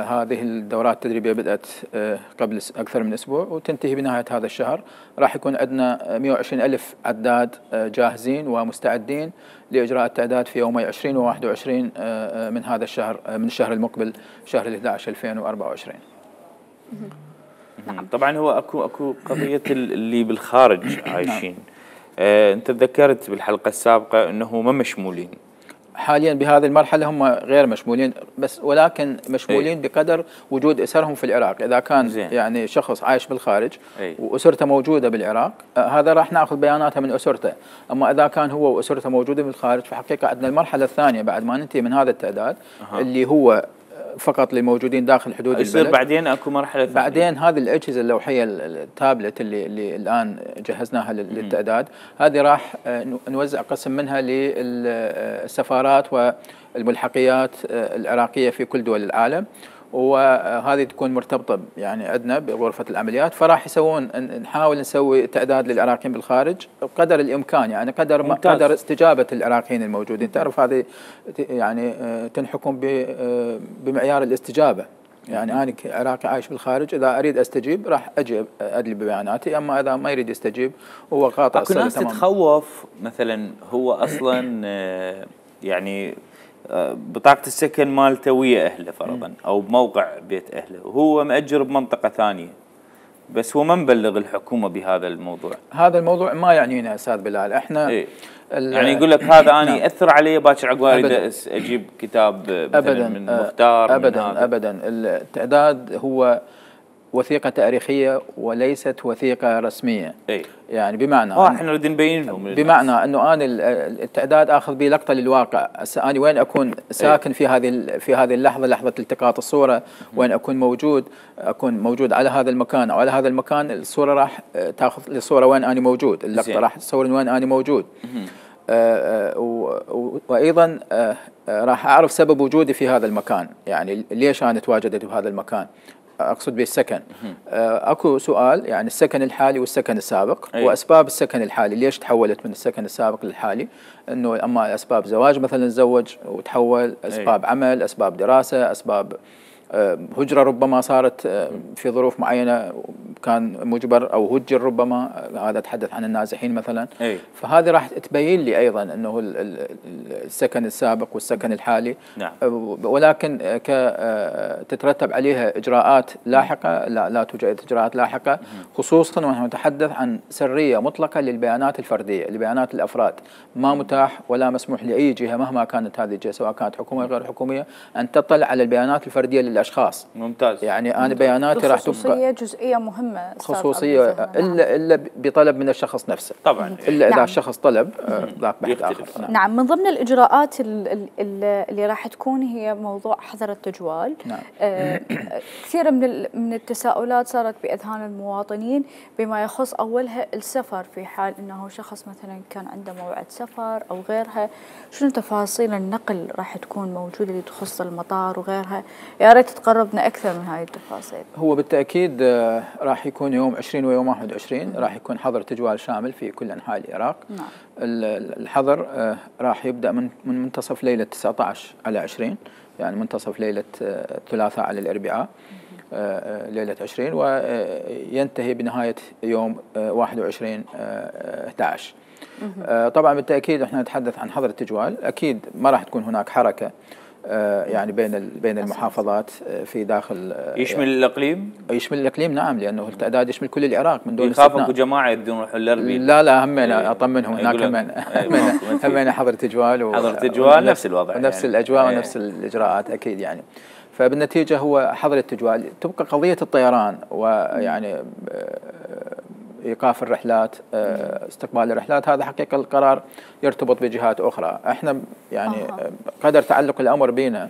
هذه الدورات التدريبية بدأت قبل أكثر من أسبوع وتنتهي بنهاية هذا الشهر. راح يكون عندنا 120,000 عداد جاهزين ومستعدين لإجراء التعداد في يومي 20 و 21 من هذا الشهر، من الشهر المقبل شهر 11 2024. نعم. طبعا هو اكو قضية اللي بالخارج عايشين. انت تذكرت بالحلقة السابقة انه ما مشمولين حاليا بهذه المرحلة، هم غير مشمولين بس، ولكن مشمولين بقدر وجود أسرهم في العراق. إذا كان زين. يعني شخص عايش بالخارج وأسرته موجودة بالعراق، هذا راح نأخذ بياناته من أسرته. أما إذا كان هو وأسرته موجودة بالخارج، فحقيقة عندنا المرحلة الثانية بعد ما ننتهي من هذا التعداد اللي هو فقط للموجودين داخل حدود البلد. يصير بعدين اكو مرحله ثانيه. بعدين هذه الاجهزه اللوحيه التابلت اللي الان جهزناها للتعداد، هذه راح نوزع قسم منها للسفارات والملحقيات العراقيه في كل دول العالم، وهذه تكون مرتبطه يعني عندنا بغرفه العمليات. فراح نحاول نسوي تعداد للعراقيين بالخارج بقدر الامكان، يعني قدر استجابه العراقيين الموجودين. تعرف هذه يعني تنحكم بمعيار الاستجابه. يعني انا عراقي عايش بالخارج، اذا اريد استجيب راح اجي ادلي ببياناتي، اما اذا ما يريد يستجيب هو قاطع الصله. اكو ناس تتخوف مثلا هو اصلا يعني بطاقة السكن مالته ويا أهله فرضا أو بموقع بيت أهله، وهو مأجر بمنطقة ثانية، بس هو ما مبلغ الحكومة بهذا الموضوع. هذا الموضوع ما يعنينا أستاذ بلال. إحنا يعني يقول لك هذا أنا يأثر علي باكر عقب أريد أجيب كتاب أبداً من مختار. أبدا التعداد هو وثيقة تاريخية وليست وثيقة رسمية. يعني بمعنى احنا نريد نبين لهم، بمعنى انه انا التعداد اخذ به لقطة للواقع. هسه انا وين اكون ساكن في هذه اللحظة، لحظة التقاط الصورة، وين اكون موجود على هذا المكان او على هذا المكان، الصورة راح تاخذ الصورة وين انا موجود، اللقطة راح تصور وين انا موجود. وايضا راح اعرف سبب وجودي في هذا المكان، يعني ليش انا تواجدت بهذا المكان، أقصد بالسكن. أكو سؤال يعني السكن الحالي والسكن السابق، وأسباب السكن الحالي ليش تحولت من السكن السابق للحالي. أنه أما أسباب زواج مثلا تزوج وتحول، أسباب عمل، أسباب دراسة، أسباب هجرة ربما صارت في ظروف معينة كان مجبر أو هجر ربما، هذا أتحدث عن النازحين مثلا. فهذه راح تبين لي أيضا أنه السكن السابق والسكن الحالي. نعم. ولكن تترتب عليها إجراءات لاحقة. لا توجد إجراءات لاحقة، خصوصا ونحن نتحدث عن سرية مطلقة للبيانات الفردية، لبيانات الأفراد. ما متاح ولا مسموح لأي جهة مهما كانت هذه الجهة، سواء كانت حكومية أو غير حكومية، أن تطلع على البيانات الفردية للأشخاص. ممتاز. يعني أنا بياناتي راح تبقى خصوصية جزئية مهمة، خصوصية إلا بطلب من الشخص نفسه طبعا، إلا إذا الشخص طلب ذاك بحث آخر. نعم. من ضمن الإجراءات اللي راح تكون هي موضوع حظر التجوال. نعم. كثير من التساؤلات صارت بأذهان المواطنين بما يخص أولها السفر، في حال أنه شخص مثلا كان عنده موعد سفر أو غيرها، شنو تفاصيل النقل راح تكون موجودة اللي تخص المطار وغيرها؟ يا ريت تقربنا أكثر من هاي التفاصيل. هو بالتأكيد راح يكون يوم 20 ويوم 21 راح يكون حظر تجوال شامل في كل أنحاء العراق. نعم. الحظر راح يبدأ من منتصف ليلة 19 على 20، يعني منتصف ليلة الثلاثاء على الأربعاء. ليلة 20 وينتهي بنهاية يوم 21/11. طبعا بالتأكيد احنا نتحدث عن حظر التجوال، أكيد ما راح تكون هناك حركة يعني بين المحافظات في داخل. يشمل الإقليم؟ يشمل الإقليم نعم، لأنه التعداد يشمل كل العراق من دون استثناء. يخافوا جماعة يدون يروحون الأربيل؟ لا همينا أطمنهم هناك همينا حظر تجوال حظر تجوال نفس الوضع ونفس يعني. الأجواء ونفس الإجراءات أكيد يعني. فبالنتيجة هو حظر التجوال. تبقى قضية الطيران ويعني إيقاف الرحلات، استقبال الرحلات، هذا حقيقة القرار يرتبط بجهات أخرى. احنا يعني قدر تعلق الأمر بنا،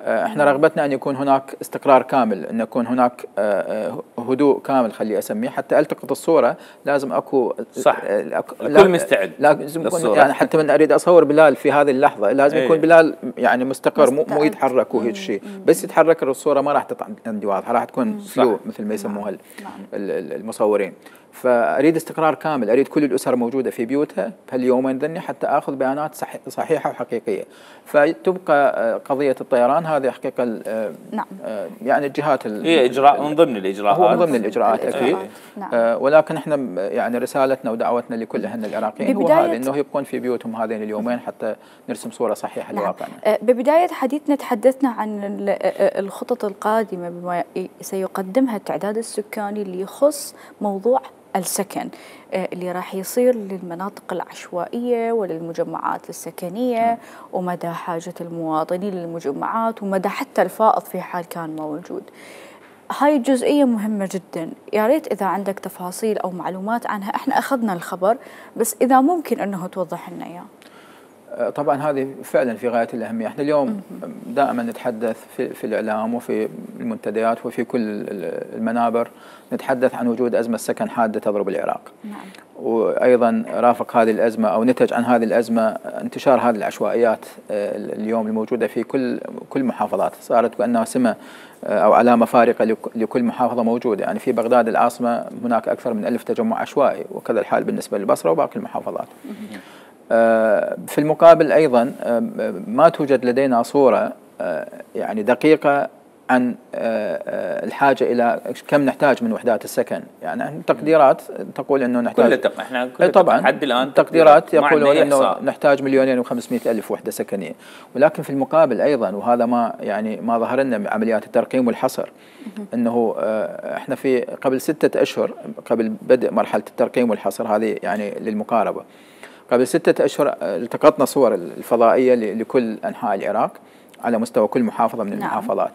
احنا رغبتنا أن يكون هناك استقرار كامل، أن يكون هناك هدوء كامل خلي أسميه، حتى ألتقط الصورة لازم أكو صح الكل مستعد، لازم يكون يعني حتى من أريد أصور بلال في هذه اللحظة لازم يكون بلال يعني مستقر، مو يتحرك وهيك شيء، بس يتحرك الصورة ما راح تطلع عندي واضحة، راح تكون فلو مثل ما يسموها المصورين. فأريد استقرار كامل، أريد كل الأسر موجودة في بيوتها بهاليومين ذني حتى أخذ بيانات صحيحة وحقيقية. فتبقى قضية الطيران هذه حقيقة نعم. يعني الجهات هي إجراء من ضمن الإجراءات، هو من ضمن الإجراءات أكيد. نعم. ولكن احنا يعني رسالتنا ودعوتنا لكل أهلنا العراقيين هو هذا، إنه يبقون في بيوتهم هذين اليومين حتى نرسم صورة صحيحة لواقعنا. ببداية حديثنا تحدثنا عن الخطط القادمة بما سيقدمها التعداد السكاني اللي يخص موضوع السكن اللي راح يصير للمناطق العشوائية وللمجمعات السكنية، ومدى حاجة المواطنين للمجمعات ومدى حتى الفائض في حال كان موجود. هاي الجزئية مهمة جدا، يا ريت إذا عندك تفاصيل أو معلومات عنها. احنا أخذنا الخبر بس إذا ممكن أنه توضح لنا إياه. طبعا هذه فعلا في غاية الأهمية. احنا اليوم دائما نتحدث في الإعلام وفي المنتديات وفي كل المنابر نتحدث عن وجود أزمة سكن حادة تضرب العراق. نعم. وأيضا رافق هذه الأزمة أو نتج عن هذه الأزمة انتشار هذه العشوائيات اليوم الموجودة في كل محافظات، صارت كأنها سمة أو علامة فارقة لكل محافظة موجودة. يعني في بغداد العاصمة هناك أكثر من 1000 تجمع عشوائي، وكذا الحال بالنسبة للبصرة وباقي المحافظات. في المقابل أيضا ما توجد لدينا صورة يعني دقيقة عن الحاجة إلى كم نحتاج من وحدات السكن. يعني تقديرات تقول أنه نحتاج احنا طبعا حد الآن تقديرات يقولون أنه نحتاج 2,500,000 وحدة سكنية، ولكن في المقابل أيضا وهذا ما ظهر لنا من عمليات الترقيم والحصر أنه احنا في قبل 6 أشهر قبل بدء مرحلة الترقيم والحصر هذه يعني للمقاربة، قبل 6 أشهر التقطنا صور الفضائية لكل أنحاء العراق على مستوى كل محافظة من المحافظات.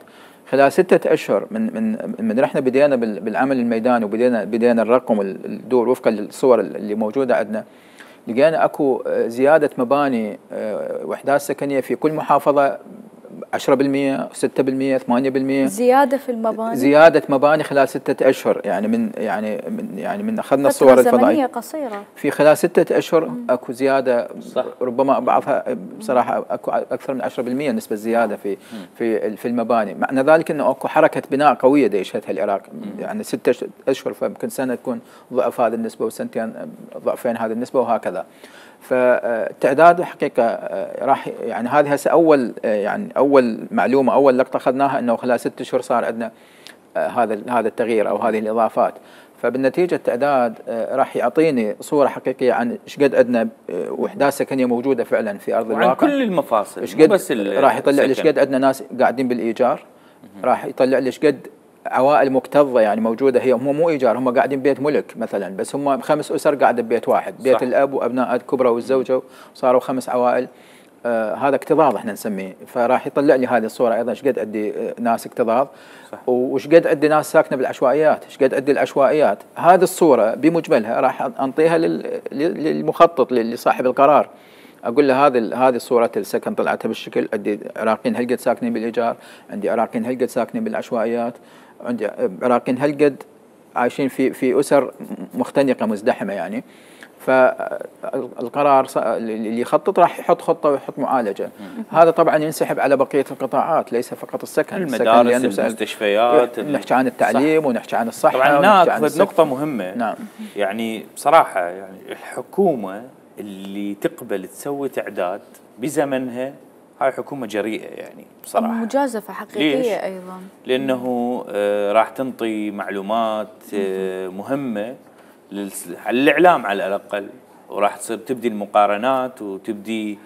خلال 6 أشهر من رحنا بدينا بالعمل الميداني وبدينا الرقم الدور وفقا للصور اللي موجودة عندنا، لقينا أكو زيادة مباني وحدات سكنية في كل محافظة 10%، 6%، 8%. زيادة في المباني، زيادة مباني خلال 6 أشهر، يعني من أخذنا الصور الفضائية قصيرة في خلال 6 أشهر أكو زيادة صح. ربما بعضها بصراحة أكو أكثر من 10% نسبة زيادة في المباني. معنى ذلك أنه أكو حركة بناء قوية ديشتها العراق، يعني 6 أشهر فممكن سنة تكون ضعف هذه النسبة وسنتين ضعفين هذه النسبة وهكذا. فالتعداد حقيقة راح يعني هذه هسه أول معلومة أول لقطة أخذناها أنه خلال 6 أشهر صار عندنا هذا التغيير أو هذه الإضافات. فبالنتيجة التعداد راح يعطيني صورة حقيقية عن ايش قد عندنا وحدات سكنية موجودة فعلا في أرض الواقع، عن كل المفاصل، ايش قد راح يطلع لي ايش قد عندنا ناس قاعدين بالإيجار، راح يطلع لي ايش قد عوائل مكتظة يعني موجودة، هم مو إيجار، هم قاعدين بيت ملك مثلا، بس هم 5 أسر قاعدة ببيت واحد، بيت صح. الأب وأبناء الكبرى والزوجة وصاروا 5 عوائل. هذا اكتظاظ احنا نسميه. فراح يطلع لي هذه الصورة أيضا ايش قد عندي ناس اكتظاظ وايش قد عندي ناس ساكنة بالعشوائيات، ايش قد عندي العشوائيات. هذه الصورة بمجملها راح أنطيها للمخطط لصاحب القرار، أقول له هذه صورة السكن طلعتها بالشكل، عندي عراقيين هالقد ساكنين بالإيجار، عندي عراقيين هالقد ساكنين بالعشوائيات، عندي عراقيين هالقد عايشين في أسر مختنقة مزدحمة يعني. فالقرار اللي يخطط راح يحط خطة ويحط معالجة. هذا طبعا ينسحب على بقية القطاعات، ليس فقط السكن، المدارس، المستشفيات، نحكي عن التعليم صح. ونحكي عن الصحة. طبعا هناك نقطة مهمة. نعم. يعني بصراحة يعني الحكومة اللي تقبل تسوي تعداد بزمنها هاي حكومة جريئة يعني بصراحة، مجازفة حقيقية أيضا، لأنه راح تنطي معلومات مهمة للإعلام على الأقل، وراح تصير تبدي المقارنات وتبدي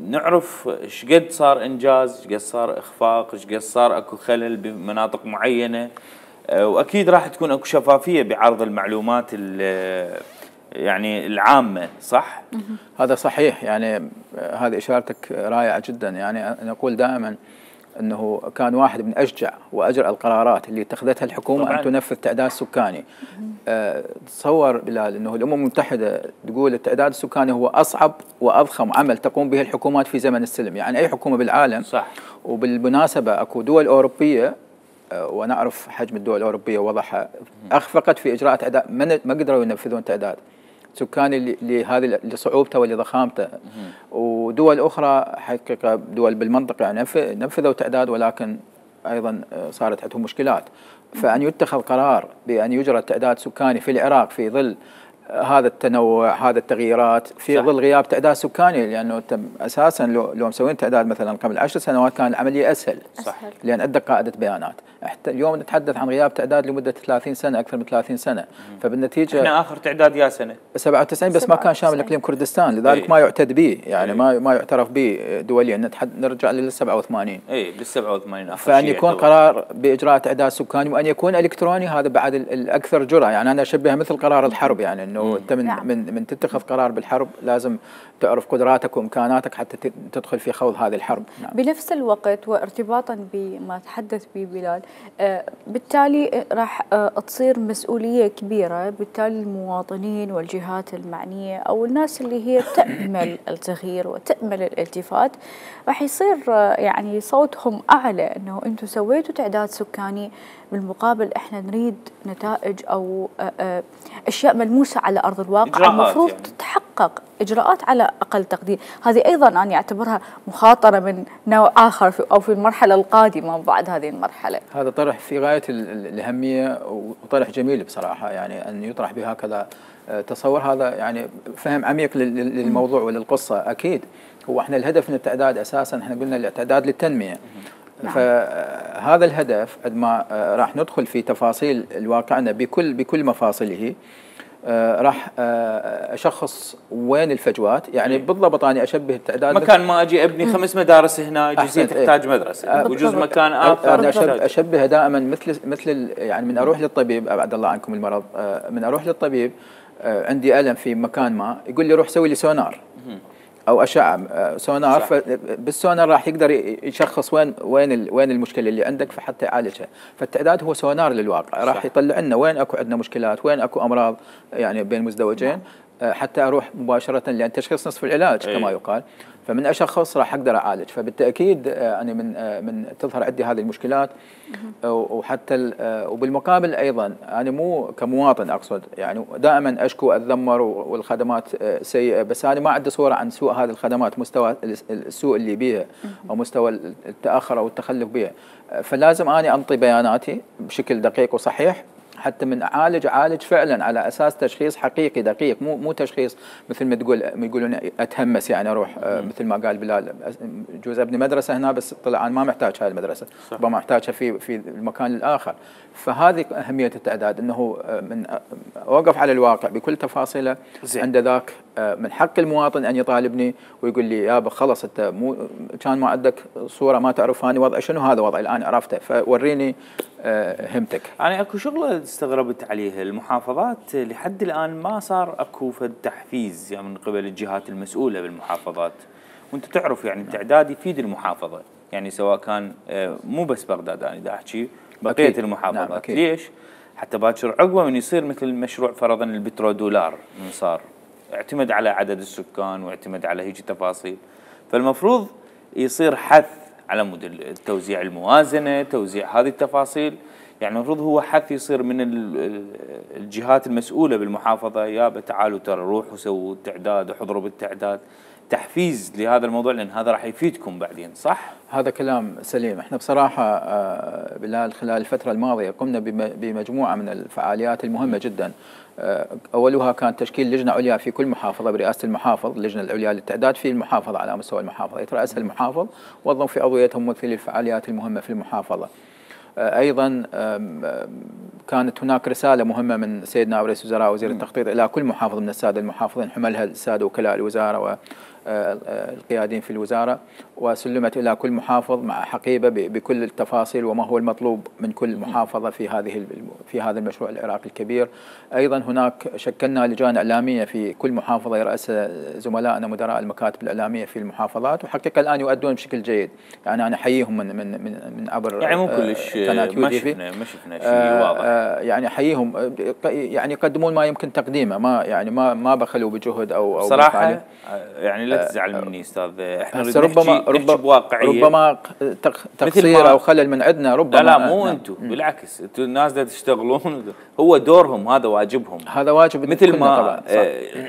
نعرف ايش قد صار انجاز، ايش قد صار اخفاق، ايش قد صار اكو خلل بمناطق معينه، واكيد راح تكون اكو شفافيه بعرض المعلومات يعني العامه، صح؟ هذا صحيح، يعني هذه اشارتك رائعه جدا. يعني انا اقول دائما انه كان واحد من اشجع واجرأ القرارات اللي اتخذتها الحكومه طبعاً ان تنفذ تعداد سكاني. تصور بلال انه الامم المتحده تقول التعداد السكاني هو اصعب واضخم عمل تقوم به الحكومات في زمن السلم، يعني اي حكومه بالعالم. صح. وبالمناسبه اكو دول اوروبيه ونعرف حجم الدول الاوروبيه وضعها اخفقت في اجراء تعداد، ما قدروا ينفذون تعداد سكاني لهذه لصعوبته ولضخامته. ودول اخرى حقيقه دول بالمنطقه يعني نفذوا تعداد ولكن ايضا صارت عندهم مشكلات. فان يتخذ قرار بان يجرى تعداد سكاني في العراق في ظل هذا التنوع، هذا التغييرات، في ظل غياب تعداد سكاني، لانه اساسا لو مسوين تعداد مثلا قبل 10 سنوات كان العمليه اسهل. صح. لان عندك قاعده بيانات. حتى اليوم نتحدث عن غياب تعداد لمده 30 سنه، اكثر من 30 سنه. فبالنتيجه احنا اخر تعداد يا سنه 97 بس ما كان شامل اقليم كردستان، لذلك ما يعتد به، يعني ما يعترف به دوليا. نرجع لل 87. اي بال 87 فان يكون قرار باجراء تعداد سكاني وان يكون الكتروني، هذا بعد الاكثر جرأه. يعني انا اشبهها مثل قرار الحرب، يعني انه انت من تتخذ قرار بالحرب لازم تعرف قدراتك وامكاناتك حتى تدخل في خوض هذه الحرب. بنفس الوقت وارتباطا بما تحدث به بلال، بالتالي راح تصير مسؤوليه كبيره، بالتالي المواطنين والجهات المعنيه او الناس اللي هي تأمل التغيير وتأمل الالتفات راح يصير يعني صوتهم اعلى، انه انتم سويتوا تعداد سكاني، بالمقابل احنا نريد نتائج او اشياء ملموسه على ارض الواقع المفروض يعني تتحقق، اجراءات على اقل تقدير. هذه ايضا انا اعتبرها مخاطره من نوع اخر او في المرحله القادمه بعد هذه المرحله. هذا طرح في غايه الاهميه وطرح جميل بصراحه، يعني ان يطرح بهكذا تصور. هذا يعني فهم عميق للموضوع وللقصه. اكيد هو احنا الهدف من التعداد اساسا احنا قلنا الاعتداد للتنميه. فهذا الهدف عندما راح ندخل في تفاصيل واقعنا بكل مفاصله، راح اشخص وين الفجوات. يعني بالضبط انا اشبه التعداد مكان ما اجي ابني 5 مدارس هنا جزئيه تحتاج مدرسه، وجزء مكان اخر انا اشبه دائما مثل يعني من اروح للطبيب، ابعد الله عنكم المرض، من اروح للطبيب عندي الم في مكان ما، يقول لي روح سوي لي سونار او اشعه سونار. بالسونار راح يقدر يشخص وين المشكله اللي عندك فحتى يعالجها. فالتعداد هو سونار للواقع، راح يطلع لنا وين اكو عندنا مشكلات، وين اكو امراض يعني بين مزدوجين، حتى اروح مباشره، لان تشخيص نصف العلاج كما يقال. فمن اشخص راح اقدر اعالج. فبالتاكيد انا من تظهر عندي هذه المشكلات، وحتى وبالمقابل ايضا انا مو كمواطن اقصد، يعني دائما اشكو اتذمر والخدمات سيئه، بس انا ما عندي صوره عن سوء هذه الخدمات، مستوى السوء اللي بيها او مستوى التاخر او التخلف بها. فلازم اني انطي بياناتي بشكل دقيق وصحيح حتى من اعالج فعلا على اساس تشخيص حقيقي دقيق، مو تشخيص مثل ما يقولون اتهمس، يعني اروح مثل ما قال بلال جوز ابني مدرسه هنا بس طلع انا ما محتاج هاي المدرسه، ربما محتاجها في المكان الاخر. فهذه اهميه التعداد، انه من اوقف على الواقع بكل تفاصيله. عند ذاك من حق المواطن ان يطالبني ويقول لي يابا خلص انت مو كان ما عندك صوره ما تعرفاني وضعي شنو، هذا وضعي الان عرفته فوريني همتك. يعني اكو شغله استغربت عليها، المحافظات لحد الان ما صار اكو فد تحفيز يعني من قبل الجهات المسؤوله بالمحافظات، وانت تعرف يعني التعداد يفيد المحافظه، يعني سواء كان مو بس بغداد انا دا احكي بقيه المحافظات. نعم ليش؟ حتى باكر عقبه من يصير مثل مشروع فرضا البترودولار من صار اعتمد على عدد السكان واعتمد على هيك تفاصيل، فالمفروض يصير حث على مود التوزيع الموازنه، توزيع هذه التفاصيل، يعني المفروض هو حث يصير من الجهات المسؤولة بالمحافظة، يابا تعالوا ترى روحوا سووا التعداد وحضروا بالتعداد، تحفيز لهذا الموضوع، لأن هذا راح يفيدكم بعدين. صح؟ هذا كلام سليم. احنا بصراحة بلال خلال الفترة الماضية قمنا بمجموعة من الفعاليات المهمة جدا. أولها كان تشكيل لجنة عليا في كل محافظة برئاسة المحافظ، اللجنة العليا للتعداد في المحافظة على مستوى المحافظة يترأسها المحافظ، وظم في عضويتهم ممثلي الفعاليات المهمة في المحافظة. أيضا كانت هناك رسالة مهمة من سيدنا نائب رئيس الوزراء وزير التخطيط إلى كل محافظ من السادة المحافظين، حملها السادة وكلاء الوزارة والقيادين في الوزارة، وسلمت إلى كل محافظ مع حقيبة بكل التفاصيل وما هو المطلوب من كل محافظة في هذا المشروع العراقي الكبير. أيضا هناك شكلنا لجان إعلامية في كل محافظة يرأسها زملائنا مدراء المكاتب الإعلامية في المحافظات، وحقيقة الآن يؤدون بشكل جيد. يعني أنا أحييهم من عبر يعني مو كلش ما شفنا شيء واضح. يعني أحييهم، يعني يقدمون ما يمكن تقديمه، ما بخلوا بجهد أو صراحة. يعني لا تزعل مني استاذ، احنا ربما بواقعيه، ربما تقصير او خلل من عندنا، ربما. لا مو انتم، بالعكس انتم الناس دا تشتغلون، هو دورهم، هذا واجبهم، هذا واجب مثل ما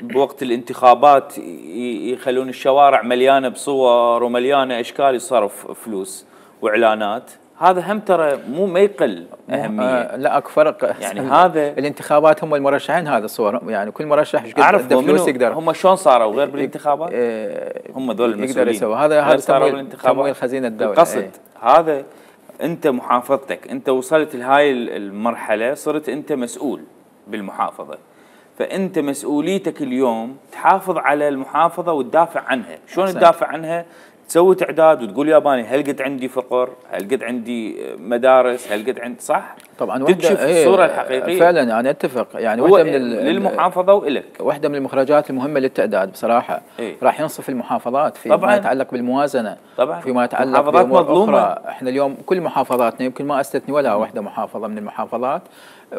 بوقت الانتخابات يخلون الشوارع مليانه بصور ومليانه اشكال يصرف فلوس واعلانات، هذا هم ترى ما يقل اهميه. لا اكو فرق، يعني هذا الانتخابات هم المرشحين، هذا الصور يعني كل مرشح اعرف فلوس يقدر. هم شلون صاروا غير بالانتخابات؟ هم ذول المسؤولين يقدر يسوي هذا تمويل خزينه الدوله. القصد هذا انت محافظتك، انت وصلت لهاي المرحله، صرت انت مسؤول بالمحافظه، فانت مسؤوليتك اليوم تحافظ على المحافظه وتدافع عنها. شلون تدافع عنها؟ تسوي تعداد وتقول ياباني هل قد عندي فقر، هل قد عندي مدارس، هل قد عندي، صح؟ طبعا تكشف الصوره الحقيقيه. فعلا انا اتفق. يعني واحده من للمحافظه والك، واحده من المخرجات المهمه للتعداد بصراحه. راح ينصف المحافظات فيما يتعلق بالموازنه، طبعا فيما يتعلق بامور اخرى. احنا اليوم كل محافظاتنا يمكن ما استثني ولا واحده محافظه من المحافظات،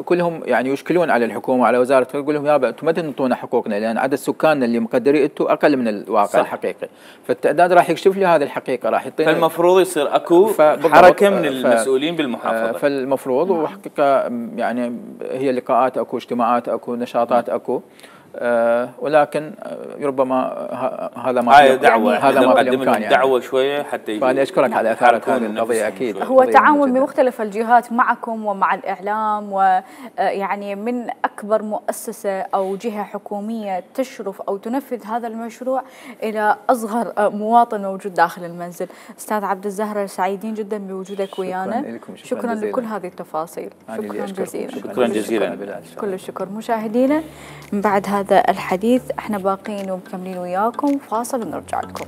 كلهم يعني يشكلون على الحكومه وعلى وزاره، يقول لهم يابا انتم ما تنطونا حقوقنا، لان عدد سكاننا اللي مقدرين انتم اقل من الواقع الحقيقي. فالتعداد راح يكشف لي هذه الحقيقه، راح يعطينا. فالمفروض يصير اكو حركه من المسؤولين بالمحافظه. فالمفروض وحقيقه يعني هي لقاءات اكو، اجتماعات اكو، نشاطات اكو، ولكن ربما هذا ما هاي دعوه، هذا ما بالامكان يعني دعوه شويه حتى فانا اشكرك على اثاره هذه القضيه. اكيد هو تعاون بمختلف الجهات معكم ومع الاعلام، ويعني من اكبر مؤسسه او جهه حكوميه تشرف او تنفذ هذا المشروع الى اصغر مواطن موجود داخل المنزل. استاذ عبد الزهره سعيدين جدا بوجودك ويانا، شكرا لكل هذه التفاصيل. شكرا جزيلا. شكرا جزيلا. كل الشكر. مشاهدينا، من بعد هذا الحديث احنا باقين ومكملين وياكم، فاصل ونرجع لكم.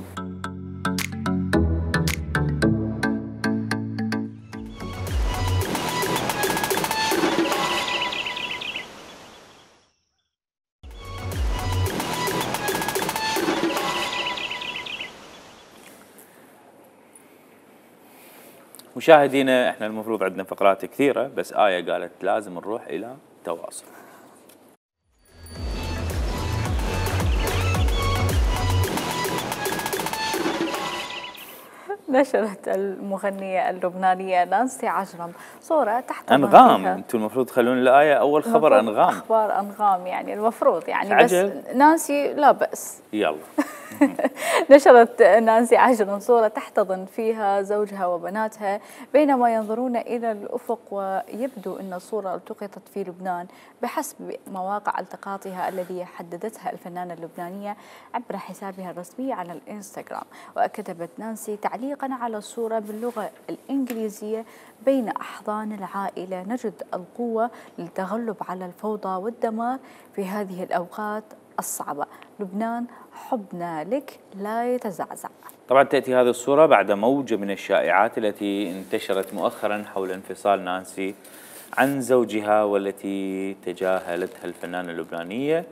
مشاهدينا، احنا المفروض عندنا فقرات كثيره، بس آية قالت لازم نروح الى تواصل. نشرت المغنية اللبنانية نانسي عجرم صورة تحت أنغام. أنتم المفروض تخلون الآية أول خبر أنغام. أخبار أنغام يعني المفروض يعني، بس نانسي لا بأس. يلا. نشرت نانسي عجرم صورة تحتضن فيها زوجها وبناتها بينما ينظرون إلى الأفق، ويبدو أن الصورة التقطت في لبنان بحسب مواقع التقاطها الذي حددتها الفنانة اللبنانية عبر حسابها الرسمي على الإنستغرام. وكتبت نانسي تعليقا على الصورة باللغة الإنجليزية: بين أحضان العائلة نجد القوة للتغلب على الفوضى والدمار في هذه الأوقات الصعبة. لبنان حبنا لك لا يتزعزع. طبعا تأتي هذه الصورة بعد موجة من الشائعات التي انتشرت مؤخرا حول انفصال نانسي عن زوجها، والتي تجاهلتها الفنانة اللبنانية،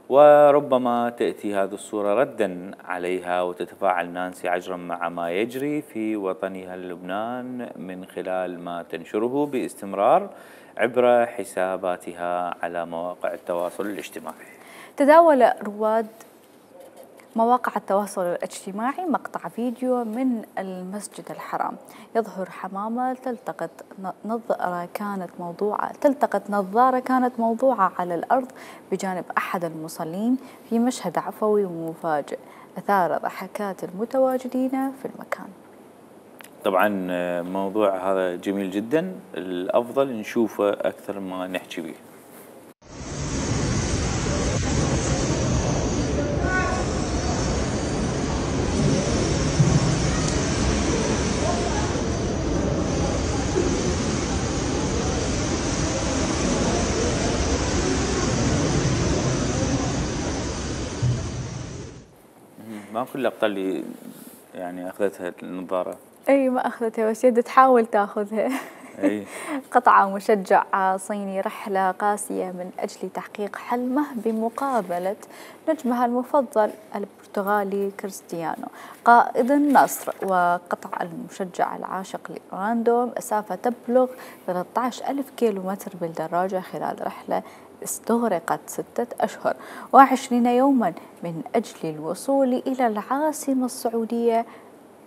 وربما تأتي هذه الصورة ردا عليها، وتتفاعل نانسي عجرم مع ما يجري في وطنها لبنان من خلال ما تنشره باستمرار عبر حساباتها على مواقع التواصل الاجتماعي. تداول رواد مواقع التواصل الاجتماعي مقطع فيديو من المسجد الحرام يظهر حمامة تلتقط نظارة كانت موضوعة على الأرض بجانب أحد المصلين في مشهد عفوي ومفاجئ أثار ضحكات المتواجدين في المكان. طبعا موضوع هذا جميل جدا، الأفضل نشوفه أكثر ما نحكي به. ما كل اللقطة اللي يعني أخذتها النظارة. أي ما أخذتها بس يد تحاول تأخذها. أي. قطع مشجع صيني رحلة قاسية من أجل تحقيق حلمه بمقابلة نجمها المفضل البرتغالي كريستيانو قائد النصر. وقطع المشجع العاشق لرولاندو مسافة تبلغ 13,000 كيلومتر بالدراجة خلال رحلة استغرقت 6 أشهر و20 يوما من أجل الوصول إلى العاصمة السعودية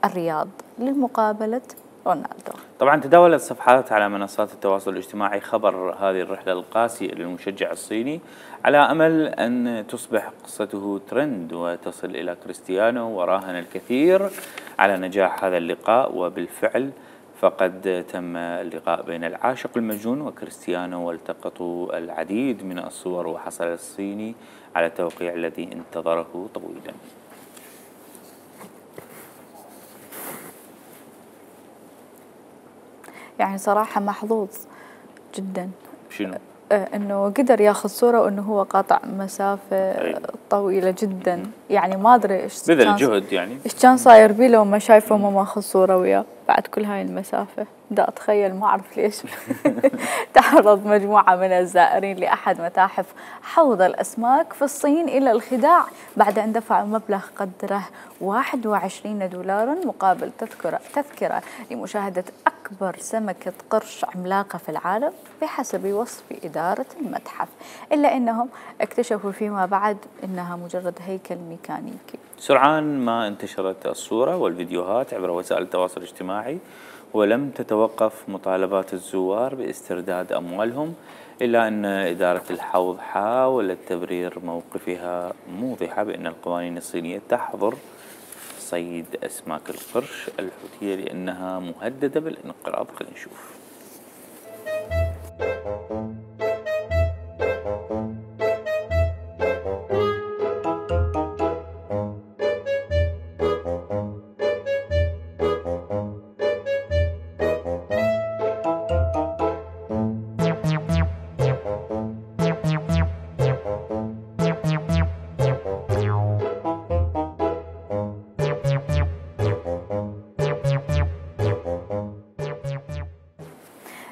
الرياض لمقابلة رونالدو. طبعا تداولت صفحات على منصات التواصل الاجتماعي خبر هذه الرحلة القاسية للمشجع الصيني على أمل أن تصبح قصته ترند وتصل إلى كريستيانو، وراهن الكثير على نجاح هذا اللقاء. وبالفعل فقد تم اللقاء بين العاشق المجنون وكريستيانو، والتقطوا العديد من الصور، وحصل الصيني على التوقيع الذي انتظره طويلا. يعني صراحة محظوظ جدا. شنو؟ انه قدر ياخذ صورة وانه هو قاطع مسافة طويلة جدا. يعني ما ادري ايش بذل جهد، يعني ايش كان صاير بيه لو ما شايفه وما ماخذ صورة وياه بعد كل هاي المسافة. دا اتخيل، ما اعرف ليش. تعرض مجموعة من الزائرين لأحد متاحف حوض الأسماك في الصين إلى الخداع بعد أن دفعوا مبلغ قدره 21 دولارا مقابل تذكرة لمشاهدة أكبر سمكة قرش عملاقة في العالم بحسب وصف إدارة المتحف، إلا أنهم اكتشفوا فيما بعد أنها مجرد هيكل ميكانيكي. سرعان ما انتشرت الصورة والفيديوهات عبر وسائل التواصل الاجتماعي، ولم تتوقف مطالبات الزوار باسترداد أموالهم، إلا أن إدارة الحوض حاولت تبرير موقفها موضحة بأن القوانين الصينية تحظر صيد أسماك القرش الحوتية لأنها مهددة بالانقراض. خلينا نشوف.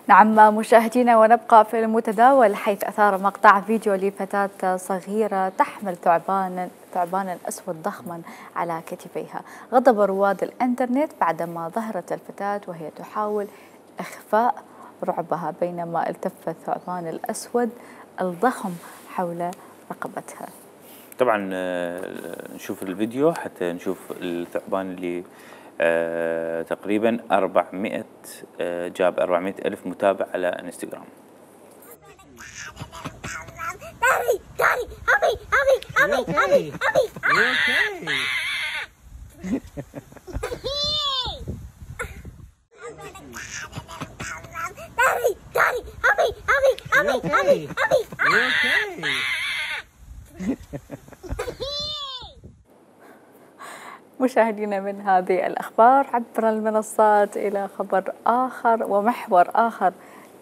نعم مشاهدينا، ونبقى في المتداول حيث أثار مقطع فيديو لفتاة صغيرة تحمل ثعبانا أسود ضخما على كتفيها غضب رواد الإنترنت بعدما ظهرت الفتاة وهي تحاول إخفاء رعبها بينما التف الثعبان الأسود الضخم حول رقبتها. طبعا نشوف الفيديو حتى نشوف الثعبان اللي تقريبا 400 جاب 400 ألف متابع على انستغرام. مشاهدينا، من هذه الأخبار عبر المنصات إلى خبر آخر ومحور آخر،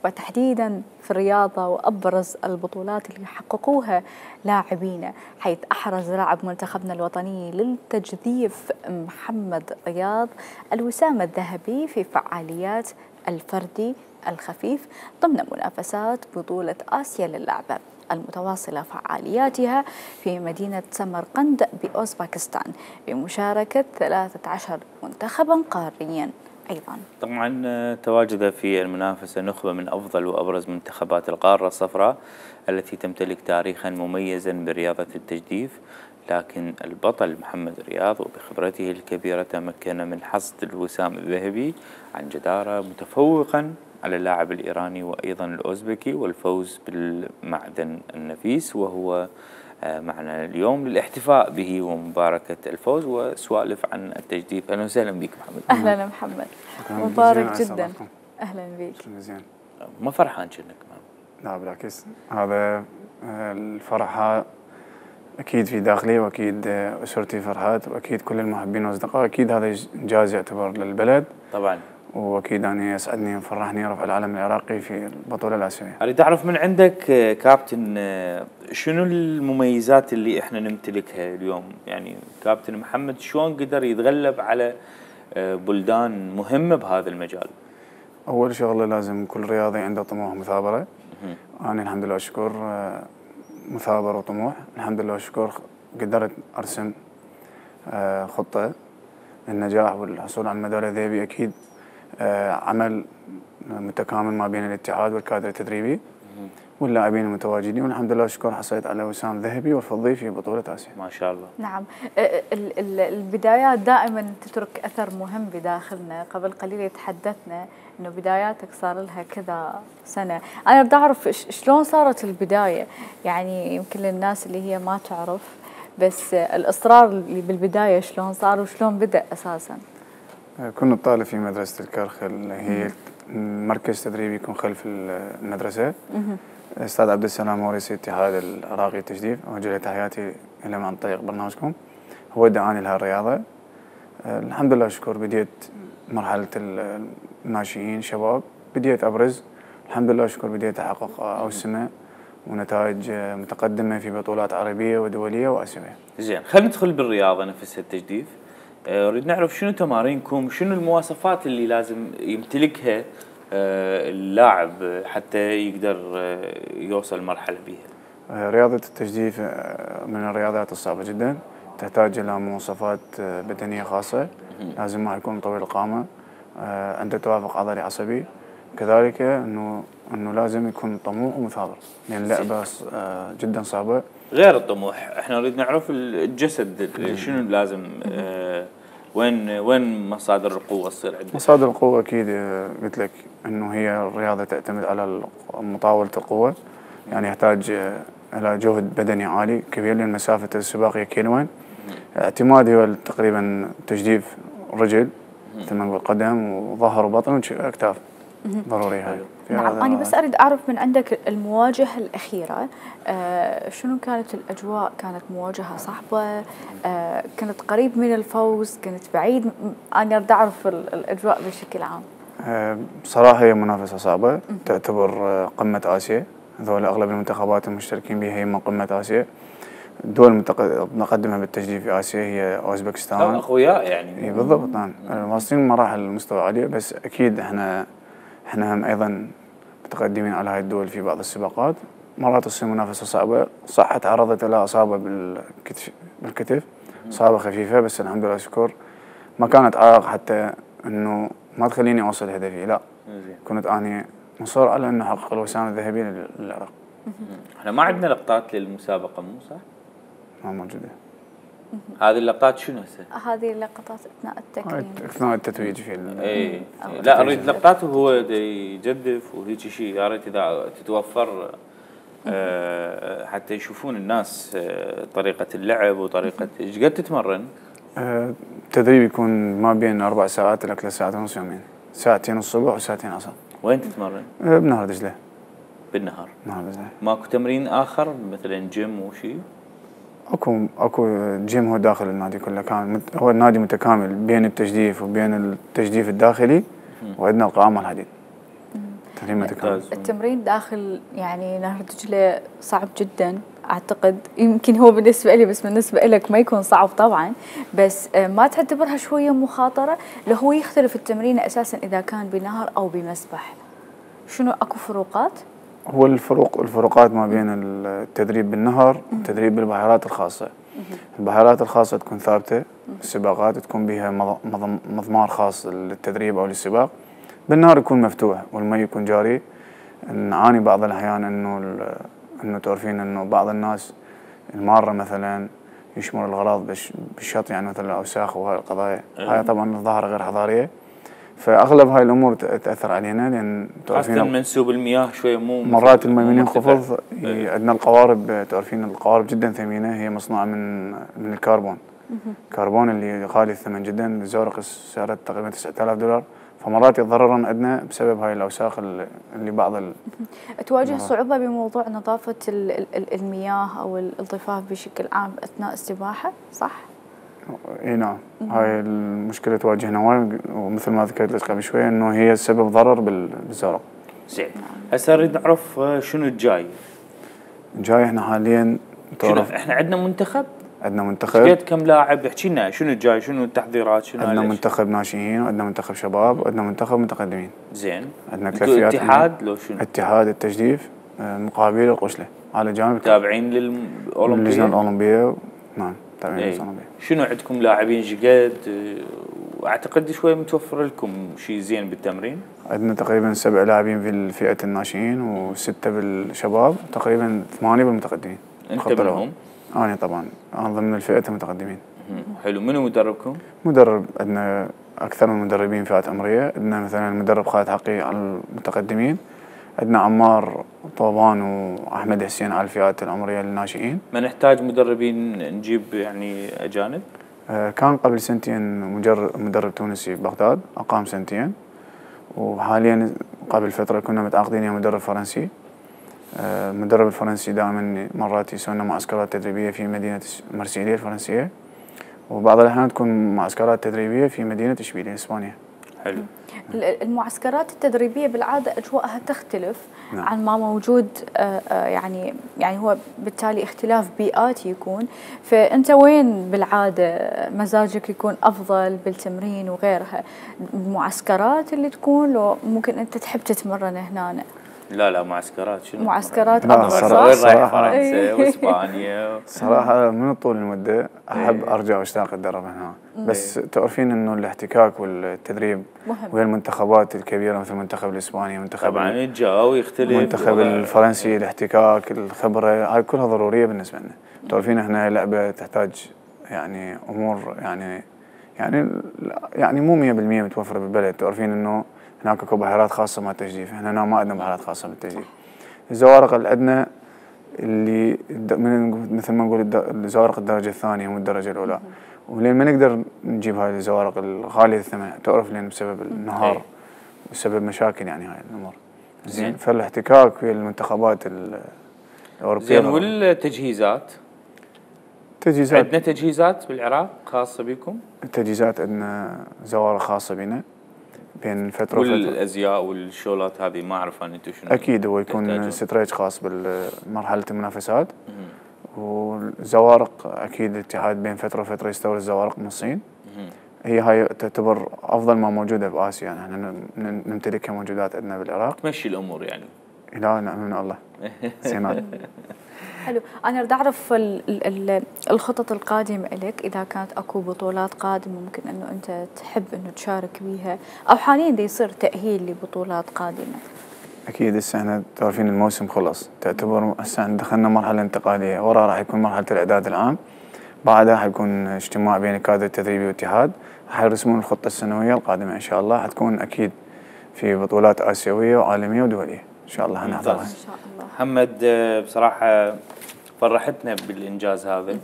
وتحديدا في الرياضة وأبرز البطولات اللي حققوها لاعبين، حيث أحرز لاعب منتخبنا الوطني للتجذيف محمد رياض الوسام الذهبي في فعاليات الفردي الخفيف ضمن منافسات بطولة آسيا للعبة المتواصلة فعالياتها في مدينة سمرقند بأوزباكستان بمشاركة 13 منتخبا قاريا. أيضا طبعا تواجد في المنافسة نخبة من أفضل وأبرز منتخبات القارة الصفراء التي تمتلك تاريخا مميزا برياضة التجديف، لكن البطل محمد رياض وبخبرته الكبيرة تمكن من حصد الوسام الذهبي عن جدارة، متفوقا على اللاعب الإيراني وأيضا الأوزبكي، والفوز بالمعدن النفيس، وهو معنا اليوم للاحتفاء به ومباركة الفوز وسوالف عن التجديف. أهلا وسهلا بك محمد. أهلا محمد، مبارك جدا. أهلا بك. زين. ما فرحان كأنك؟ لا بالعكس، هذا الفرحة أكيد في داخلي، وأكيد أسرتي فرحات، وأكيد كل المحبين والأصدقاء، أكيد هذا إنجاز يعتبر للبلد طبعا، وأكيد أنا يسعدني ويفرحني رفع العلم العراقي في البطولة الآسيوية. أريد أعرف من عندك كابتن شنو المميزات اللي إحنا نمتلكها اليوم؟ يعني كابتن محمد شلون قدر يتغلب على بلدان مهمة بهذا المجال؟ أول شغلة لازم كل رياضي عنده طموح مثابرة. أنا الحمد لله أشكر مثابر وطموح، الحمد لله أشكر قدرت أرسم خطة للنجاح والحصول على الميدالية الذهبية. أكيد عمل متكامل ما بين الاتحاد والكادر التدريبي واللاعبين المتواجدين، والحمد لله أشكر حصلت على وسام ذهبي والفضي في بطولة آسيا. ما شاء الله. نعم، البدايات دائما تترك أثر مهم بداخلنا. قبل قليل تحدثنا إنه بداياتك صار لها كذا سنة. أنا بدي أعرف شلون صارت البداية، يعني يمكن للناس اللي هي ما تعرف، بس الإصرار اللي بالبداية شلون صار وشلون بدأ أساسا؟ كنت طالب في مدرسة الكرخل، هي مركز تدريبي يكون خلف المدرسة. أستاذ عبد السلام هو رئيس الاتحاد العراقي للتجديف، أوجه له تحياتي له عن طريق برنامجكم. هو دعاني لهالرياضة. الحمد لله أشكر بديت مرحلة الناشئين شباب، بديت أبرز الحمد لله أشكر، بديت أحقق أوسمة ونتائج متقدمة في بطولات عربية ودولية وآسيوية. زين، خلينا ندخل بالرياضة نفسها التجديف. أريد نعرف شنو تمارينكم، شنو المواصفات اللي لازم يمتلكها اللاعب حتى يقدر يوصل مرحلة بيها؟ رياضة التجديف من الرياضات الصعبة جدا، تحتاج إلى مواصفات بدنية خاصة. لازم ما يكون طويل القامة، عنده توافق عضلي عصبي، كذلك انه لازم يكون طموح ومثابر، لان اللعبة جدا صعبة. غير الطموح، احنا نريد نعرف الجسد شنو لازم، وين مصادر القوة تصير عندك؟ مصادر القوة أكيد قلت لك إنه هي الرياضة تعتمد على مطاولة القوة، يعني يحتاج إلى جهد بدني عالي كبير، لأن مسافة السباق هي كيلوين. اعتمادي هو تقريبا تجديف رجل مثل ما نقول قدم وظهر وبطن وأكتاف، ضروري هاي. نعم، أنا بس أريد أعرف من عندك المواجهة الأخيرة، شنو كانت الأجواء؟ كانت مواجهة صعبة؟ كنت قريب من الفوز؟ كنت بعيد؟ أنا أريد أعرف الأجواء بشكل عام. بصراحة هي منافسة صعبة، تعتبر قمة آسيا، هذول أغلب المنتخبات المشتركين بها هي من قمة آسيا. الدول المتقدمة بالتجديف في آسيا هي أوزبكستان. أخويا يعني. بالضبط، نعم، واصلين مراحل مستوى عالية، بس أكيد احنا هم أيضا متقدمين على هاي الدول في بعض السباقات. مرات تصير منافسة صعبة، صح تعرضت إلى إصابة بالكتف، إصابة خفيفة، بس الحمد لله شكر ما كانت عائق حتى إنه ما تخليني أوصل هدفي، لا كنت أنا مصر على إنه أحقق الوسام الذهبي للعراق. احنا ما عندنا لقطات للمسابقة، مو صح؟ ما موجودة. هذه اللقطات شنو هسه؟ هذه اللقطات أثناء التكريم، أثناء التتويج في اي لا، أريد لقطات وهو يجدف وهيك شيء، يا ريت إذا تتوفر حتى يشوفون الناس طريقة اللعب وطريقة ايش قد تتمرن؟ التدريب يكون ما بين 4 ساعات إلى 3 ساعات ونص يومين، ساعتين الصبح وساعتين عصر. وين تتمرن؟ بنهر دجلة. بالنهار؟ نهر دجلة. ماكو تمرين آخر مثلا جيم وشيء؟ اكو جيم هو داخل النادي كله، كان هو النادي متكامل بين التجديف وبين التجديف الداخلي، وعندنا القائمة الحديد. تمرين متكامل. التمرين داخل يعني نهر دجلة صعب جدا اعتقد، يمكن هو بالنسبة لي، بس بالنسبة لك ما يكون صعب طبعا، بس ما تعتبرها شوية مخاطرة؟ لو هو يختلف التمرين اساسا اذا كان بنهر او بمسبح، شنو اكو فروقات؟ هو الفروقات ما بين التدريب بالنهر والتدريب بالبحيرات الخاصة. البحيرات الخاصة تكون ثابتة، السباقات تكون بها مضمار خاص للتدريب أو للسباق. بالنهر يكون مفتوح والمي يكون جاري. نعاني بعض الأحيان إنه تعرفين إنه بعض الناس المارة مثلا يشمر الغراض بالشط يعني مثلا الاوساخ وهاي القضايا. هاي طبعا ظاهره غير حضاريه، فاغلب هاي الامور تاثر علينا، لان خاصة منسوب المياه شويه مو مرات المي من ينخفض عندنا القوارب، تعرفين القوارب جدا ثمينه، هي مصنوعه من الكربون. الكربون اللي غالي الثمن جدا، الزورق سعره تقريبا $9000، فمرات يتضررن عندنا بسبب هاي الاوساخ اللي بعض تواجه صعوبه بموضوع نظافه المياه او الضفاف بشكل عام اثناء السباحه، صح؟ اي نعم، هاي المشكله تواجهنا وايد، ومثل ما ذكرت لك قبل شوي انه هي سبب ضرر بالزورق. زين، هسه نريد نعرف شنو الجاي؟ الجاي احنا حاليا احنا عندنا منتخب؟ عندنا منتخب. قد كم لاعب؟ احكي لنا شنو الجاي، شنو التحضيرات، شنو عندنا منتخب ناشئين، وعندنا منتخب شباب، وعندنا منتخب متقدمين. زين، عندنا كلاسيات اتحاد لو شنو؟ اتحاد التجديف مقابل القشله على جانب تابعين للاولمبيه؟ اللجنه الاولمبيه، نعم تابعين للجنه الاولمبيه. شنو عندكم لاعبين جدد؟ واعتقد شوي متوفر لكم شيء زين بالتمرين؟ عندنا تقريبا 7 لاعبين في فئه الناشئين و6 بالشباب، تقريبا 8 بالمتقدمين. انت منهم؟ أنا طبعا أنا ضمن الفئة المتقدمين. حلو، منو مدربكم؟ مدرب عندنا أكثر من مدربين فئات عمرية، عندنا مثلا المدرب خالد حقي على المتقدمين، عندنا عمار طوبان وأحمد حسين على الفئات العمرية للناشئين. ما نحتاج مدربين نجيب يعني أجانب؟ كان قبل سنتين مدرب تونسي ببغداد، أقام سنتين، وحاليا قبل فترة كنا متعاقدين مع مدرب فرنسي. المدرب الفرنسي دائما مرات يسوي معسكرات تدريبيه في مدينه مرسيليا الفرنسيه، وبعض الاحيان تكون معسكرات تدريبيه في مدينه اشبيليه اسبانيا. حلو. المعسكرات التدريبيه بالعاده اجواءها تختلف نعم. عن ما موجود، يعني هو بالتالي اختلاف بيئات يكون، فانت وين بالعاده مزاجك يكون افضل بالتمرين وغيرها؟ المعسكرات اللي تكون، لو ممكن انت تحب تتمرن هنا؟ لا معسكرات، شنو معسكرات افضل، وين رايح فرنسا واسبانيا؟ صراحه من طول المده احب ارجع واشتاق اتدرب هنا، بس تعرفين انه الاحتكاك والتدريب مهم. وهي المنتخبات الكبيره مثل المنتخب الاسباني، منتخب طبعا الجو يختلف، المنتخب الفرنسي، الاحتكاك، الخبره، هاي كلها ضروريه بالنسبه لنا. تعرفين احنا لعبه تحتاج يعني امور يعني مو 100% متوفره بالبلد. تعرفين انه هناك اكو بحيرات خاصه مع التجديف، احنا هنا ما عندنا بحيرات خاصه بالتجديف. الزوارق اللي عندنا اللي مثل ما نقول الزوارق الدرجه الثانيه مو الدرجه الاولى، ولين ما نقدر نجيب هاي الزوارق الغاليه الثمن، تعرف لين بسبب النهار بسبب مشاكل يعني هاي الامور. زين، فالاحتكاك في المنتخبات الاوروبيه. زين، والتجهيزات؟ عندنا تجهيزات بالعراق خاصه بكم؟ التجهيزات عندنا زوارق خاصه بنا بين فتره وفتره، والازياء والشولات هذه ما اعرف انا انتم شنو. اكيد هو يكون ستريج خاص بالمرحله المنافسات، والزوارق اكيد الاتحاد بين فتره وفتره يستورد زوارق من الصين. هاي تعتبر افضل ما موجوده باسيا، يعني احنا نمتلكها موجودات عندنا بالعراق. تمشي الامور يعني. لا نعم من الله. زين. حلو، انا اريد اعرف الخطط القادمه لك، اذا كانت اكو بطولات قادمه ممكن انه انت تحب انه تشارك بيها، او حاليا دا يصير تاهيل لبطولات قادمه. اكيد هسه احنا تعرفين الموسم خلص، تعتبر هسه دخلنا مرحله انتقاليه، ورا راح يكون مرحله الاعداد العام، بعدها حيكون اجتماع بين الكادر التدريبي والاتحاد، حيرسمون الخطه السنويه القادمه ان شاء الله، حتكون اكيد في بطولات اسيويه وعالميه ودوليه ان شاء الله حنحضرها ان شاء الله. محمد، بصراحه فرحتنا بالانجاز هذا،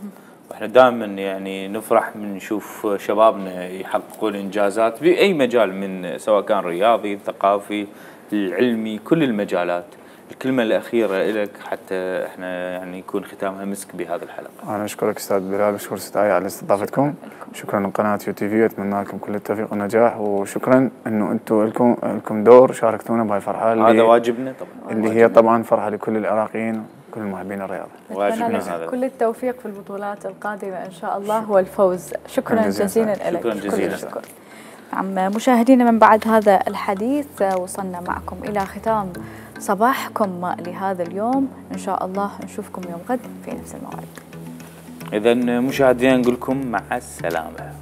واحنا دائما يعني نفرح من نشوف شبابنا يحققون انجازات باي مجال، من سواء كان رياضي، ثقافي، العلمي، كل المجالات. الكلمه الاخيره لك حتى احنا يعني يكون ختامها مسك بهذه الحلقه. انا اشكرك استاذ بلال، واشكر استاذ آية على استضافتكم، شكرا لقناه يو تي في، واتمنى لكم كل التوفيق والنجاح، وشكرا انه انتم لكم دور شاركتونا بهاي الفرحه هذا واجبنا طبعا، اللي هي طبعا فرحه لكل العراقيين وكل محبين الرياضه. واجبنا هذا. كل التوفيق في البطولات القادمه ان شاء الله والفوز. شكرا جزيلا لك. شكرا جزيلا. نعم مشاهدينا، من بعد هذا الحديث وصلنا معكم الى ختام صباحكم لهذا اليوم، ان شاء الله نشوفكم يوم غد في نفس الموعد. اذا مشاهدينا نقول لكم مع السلامه.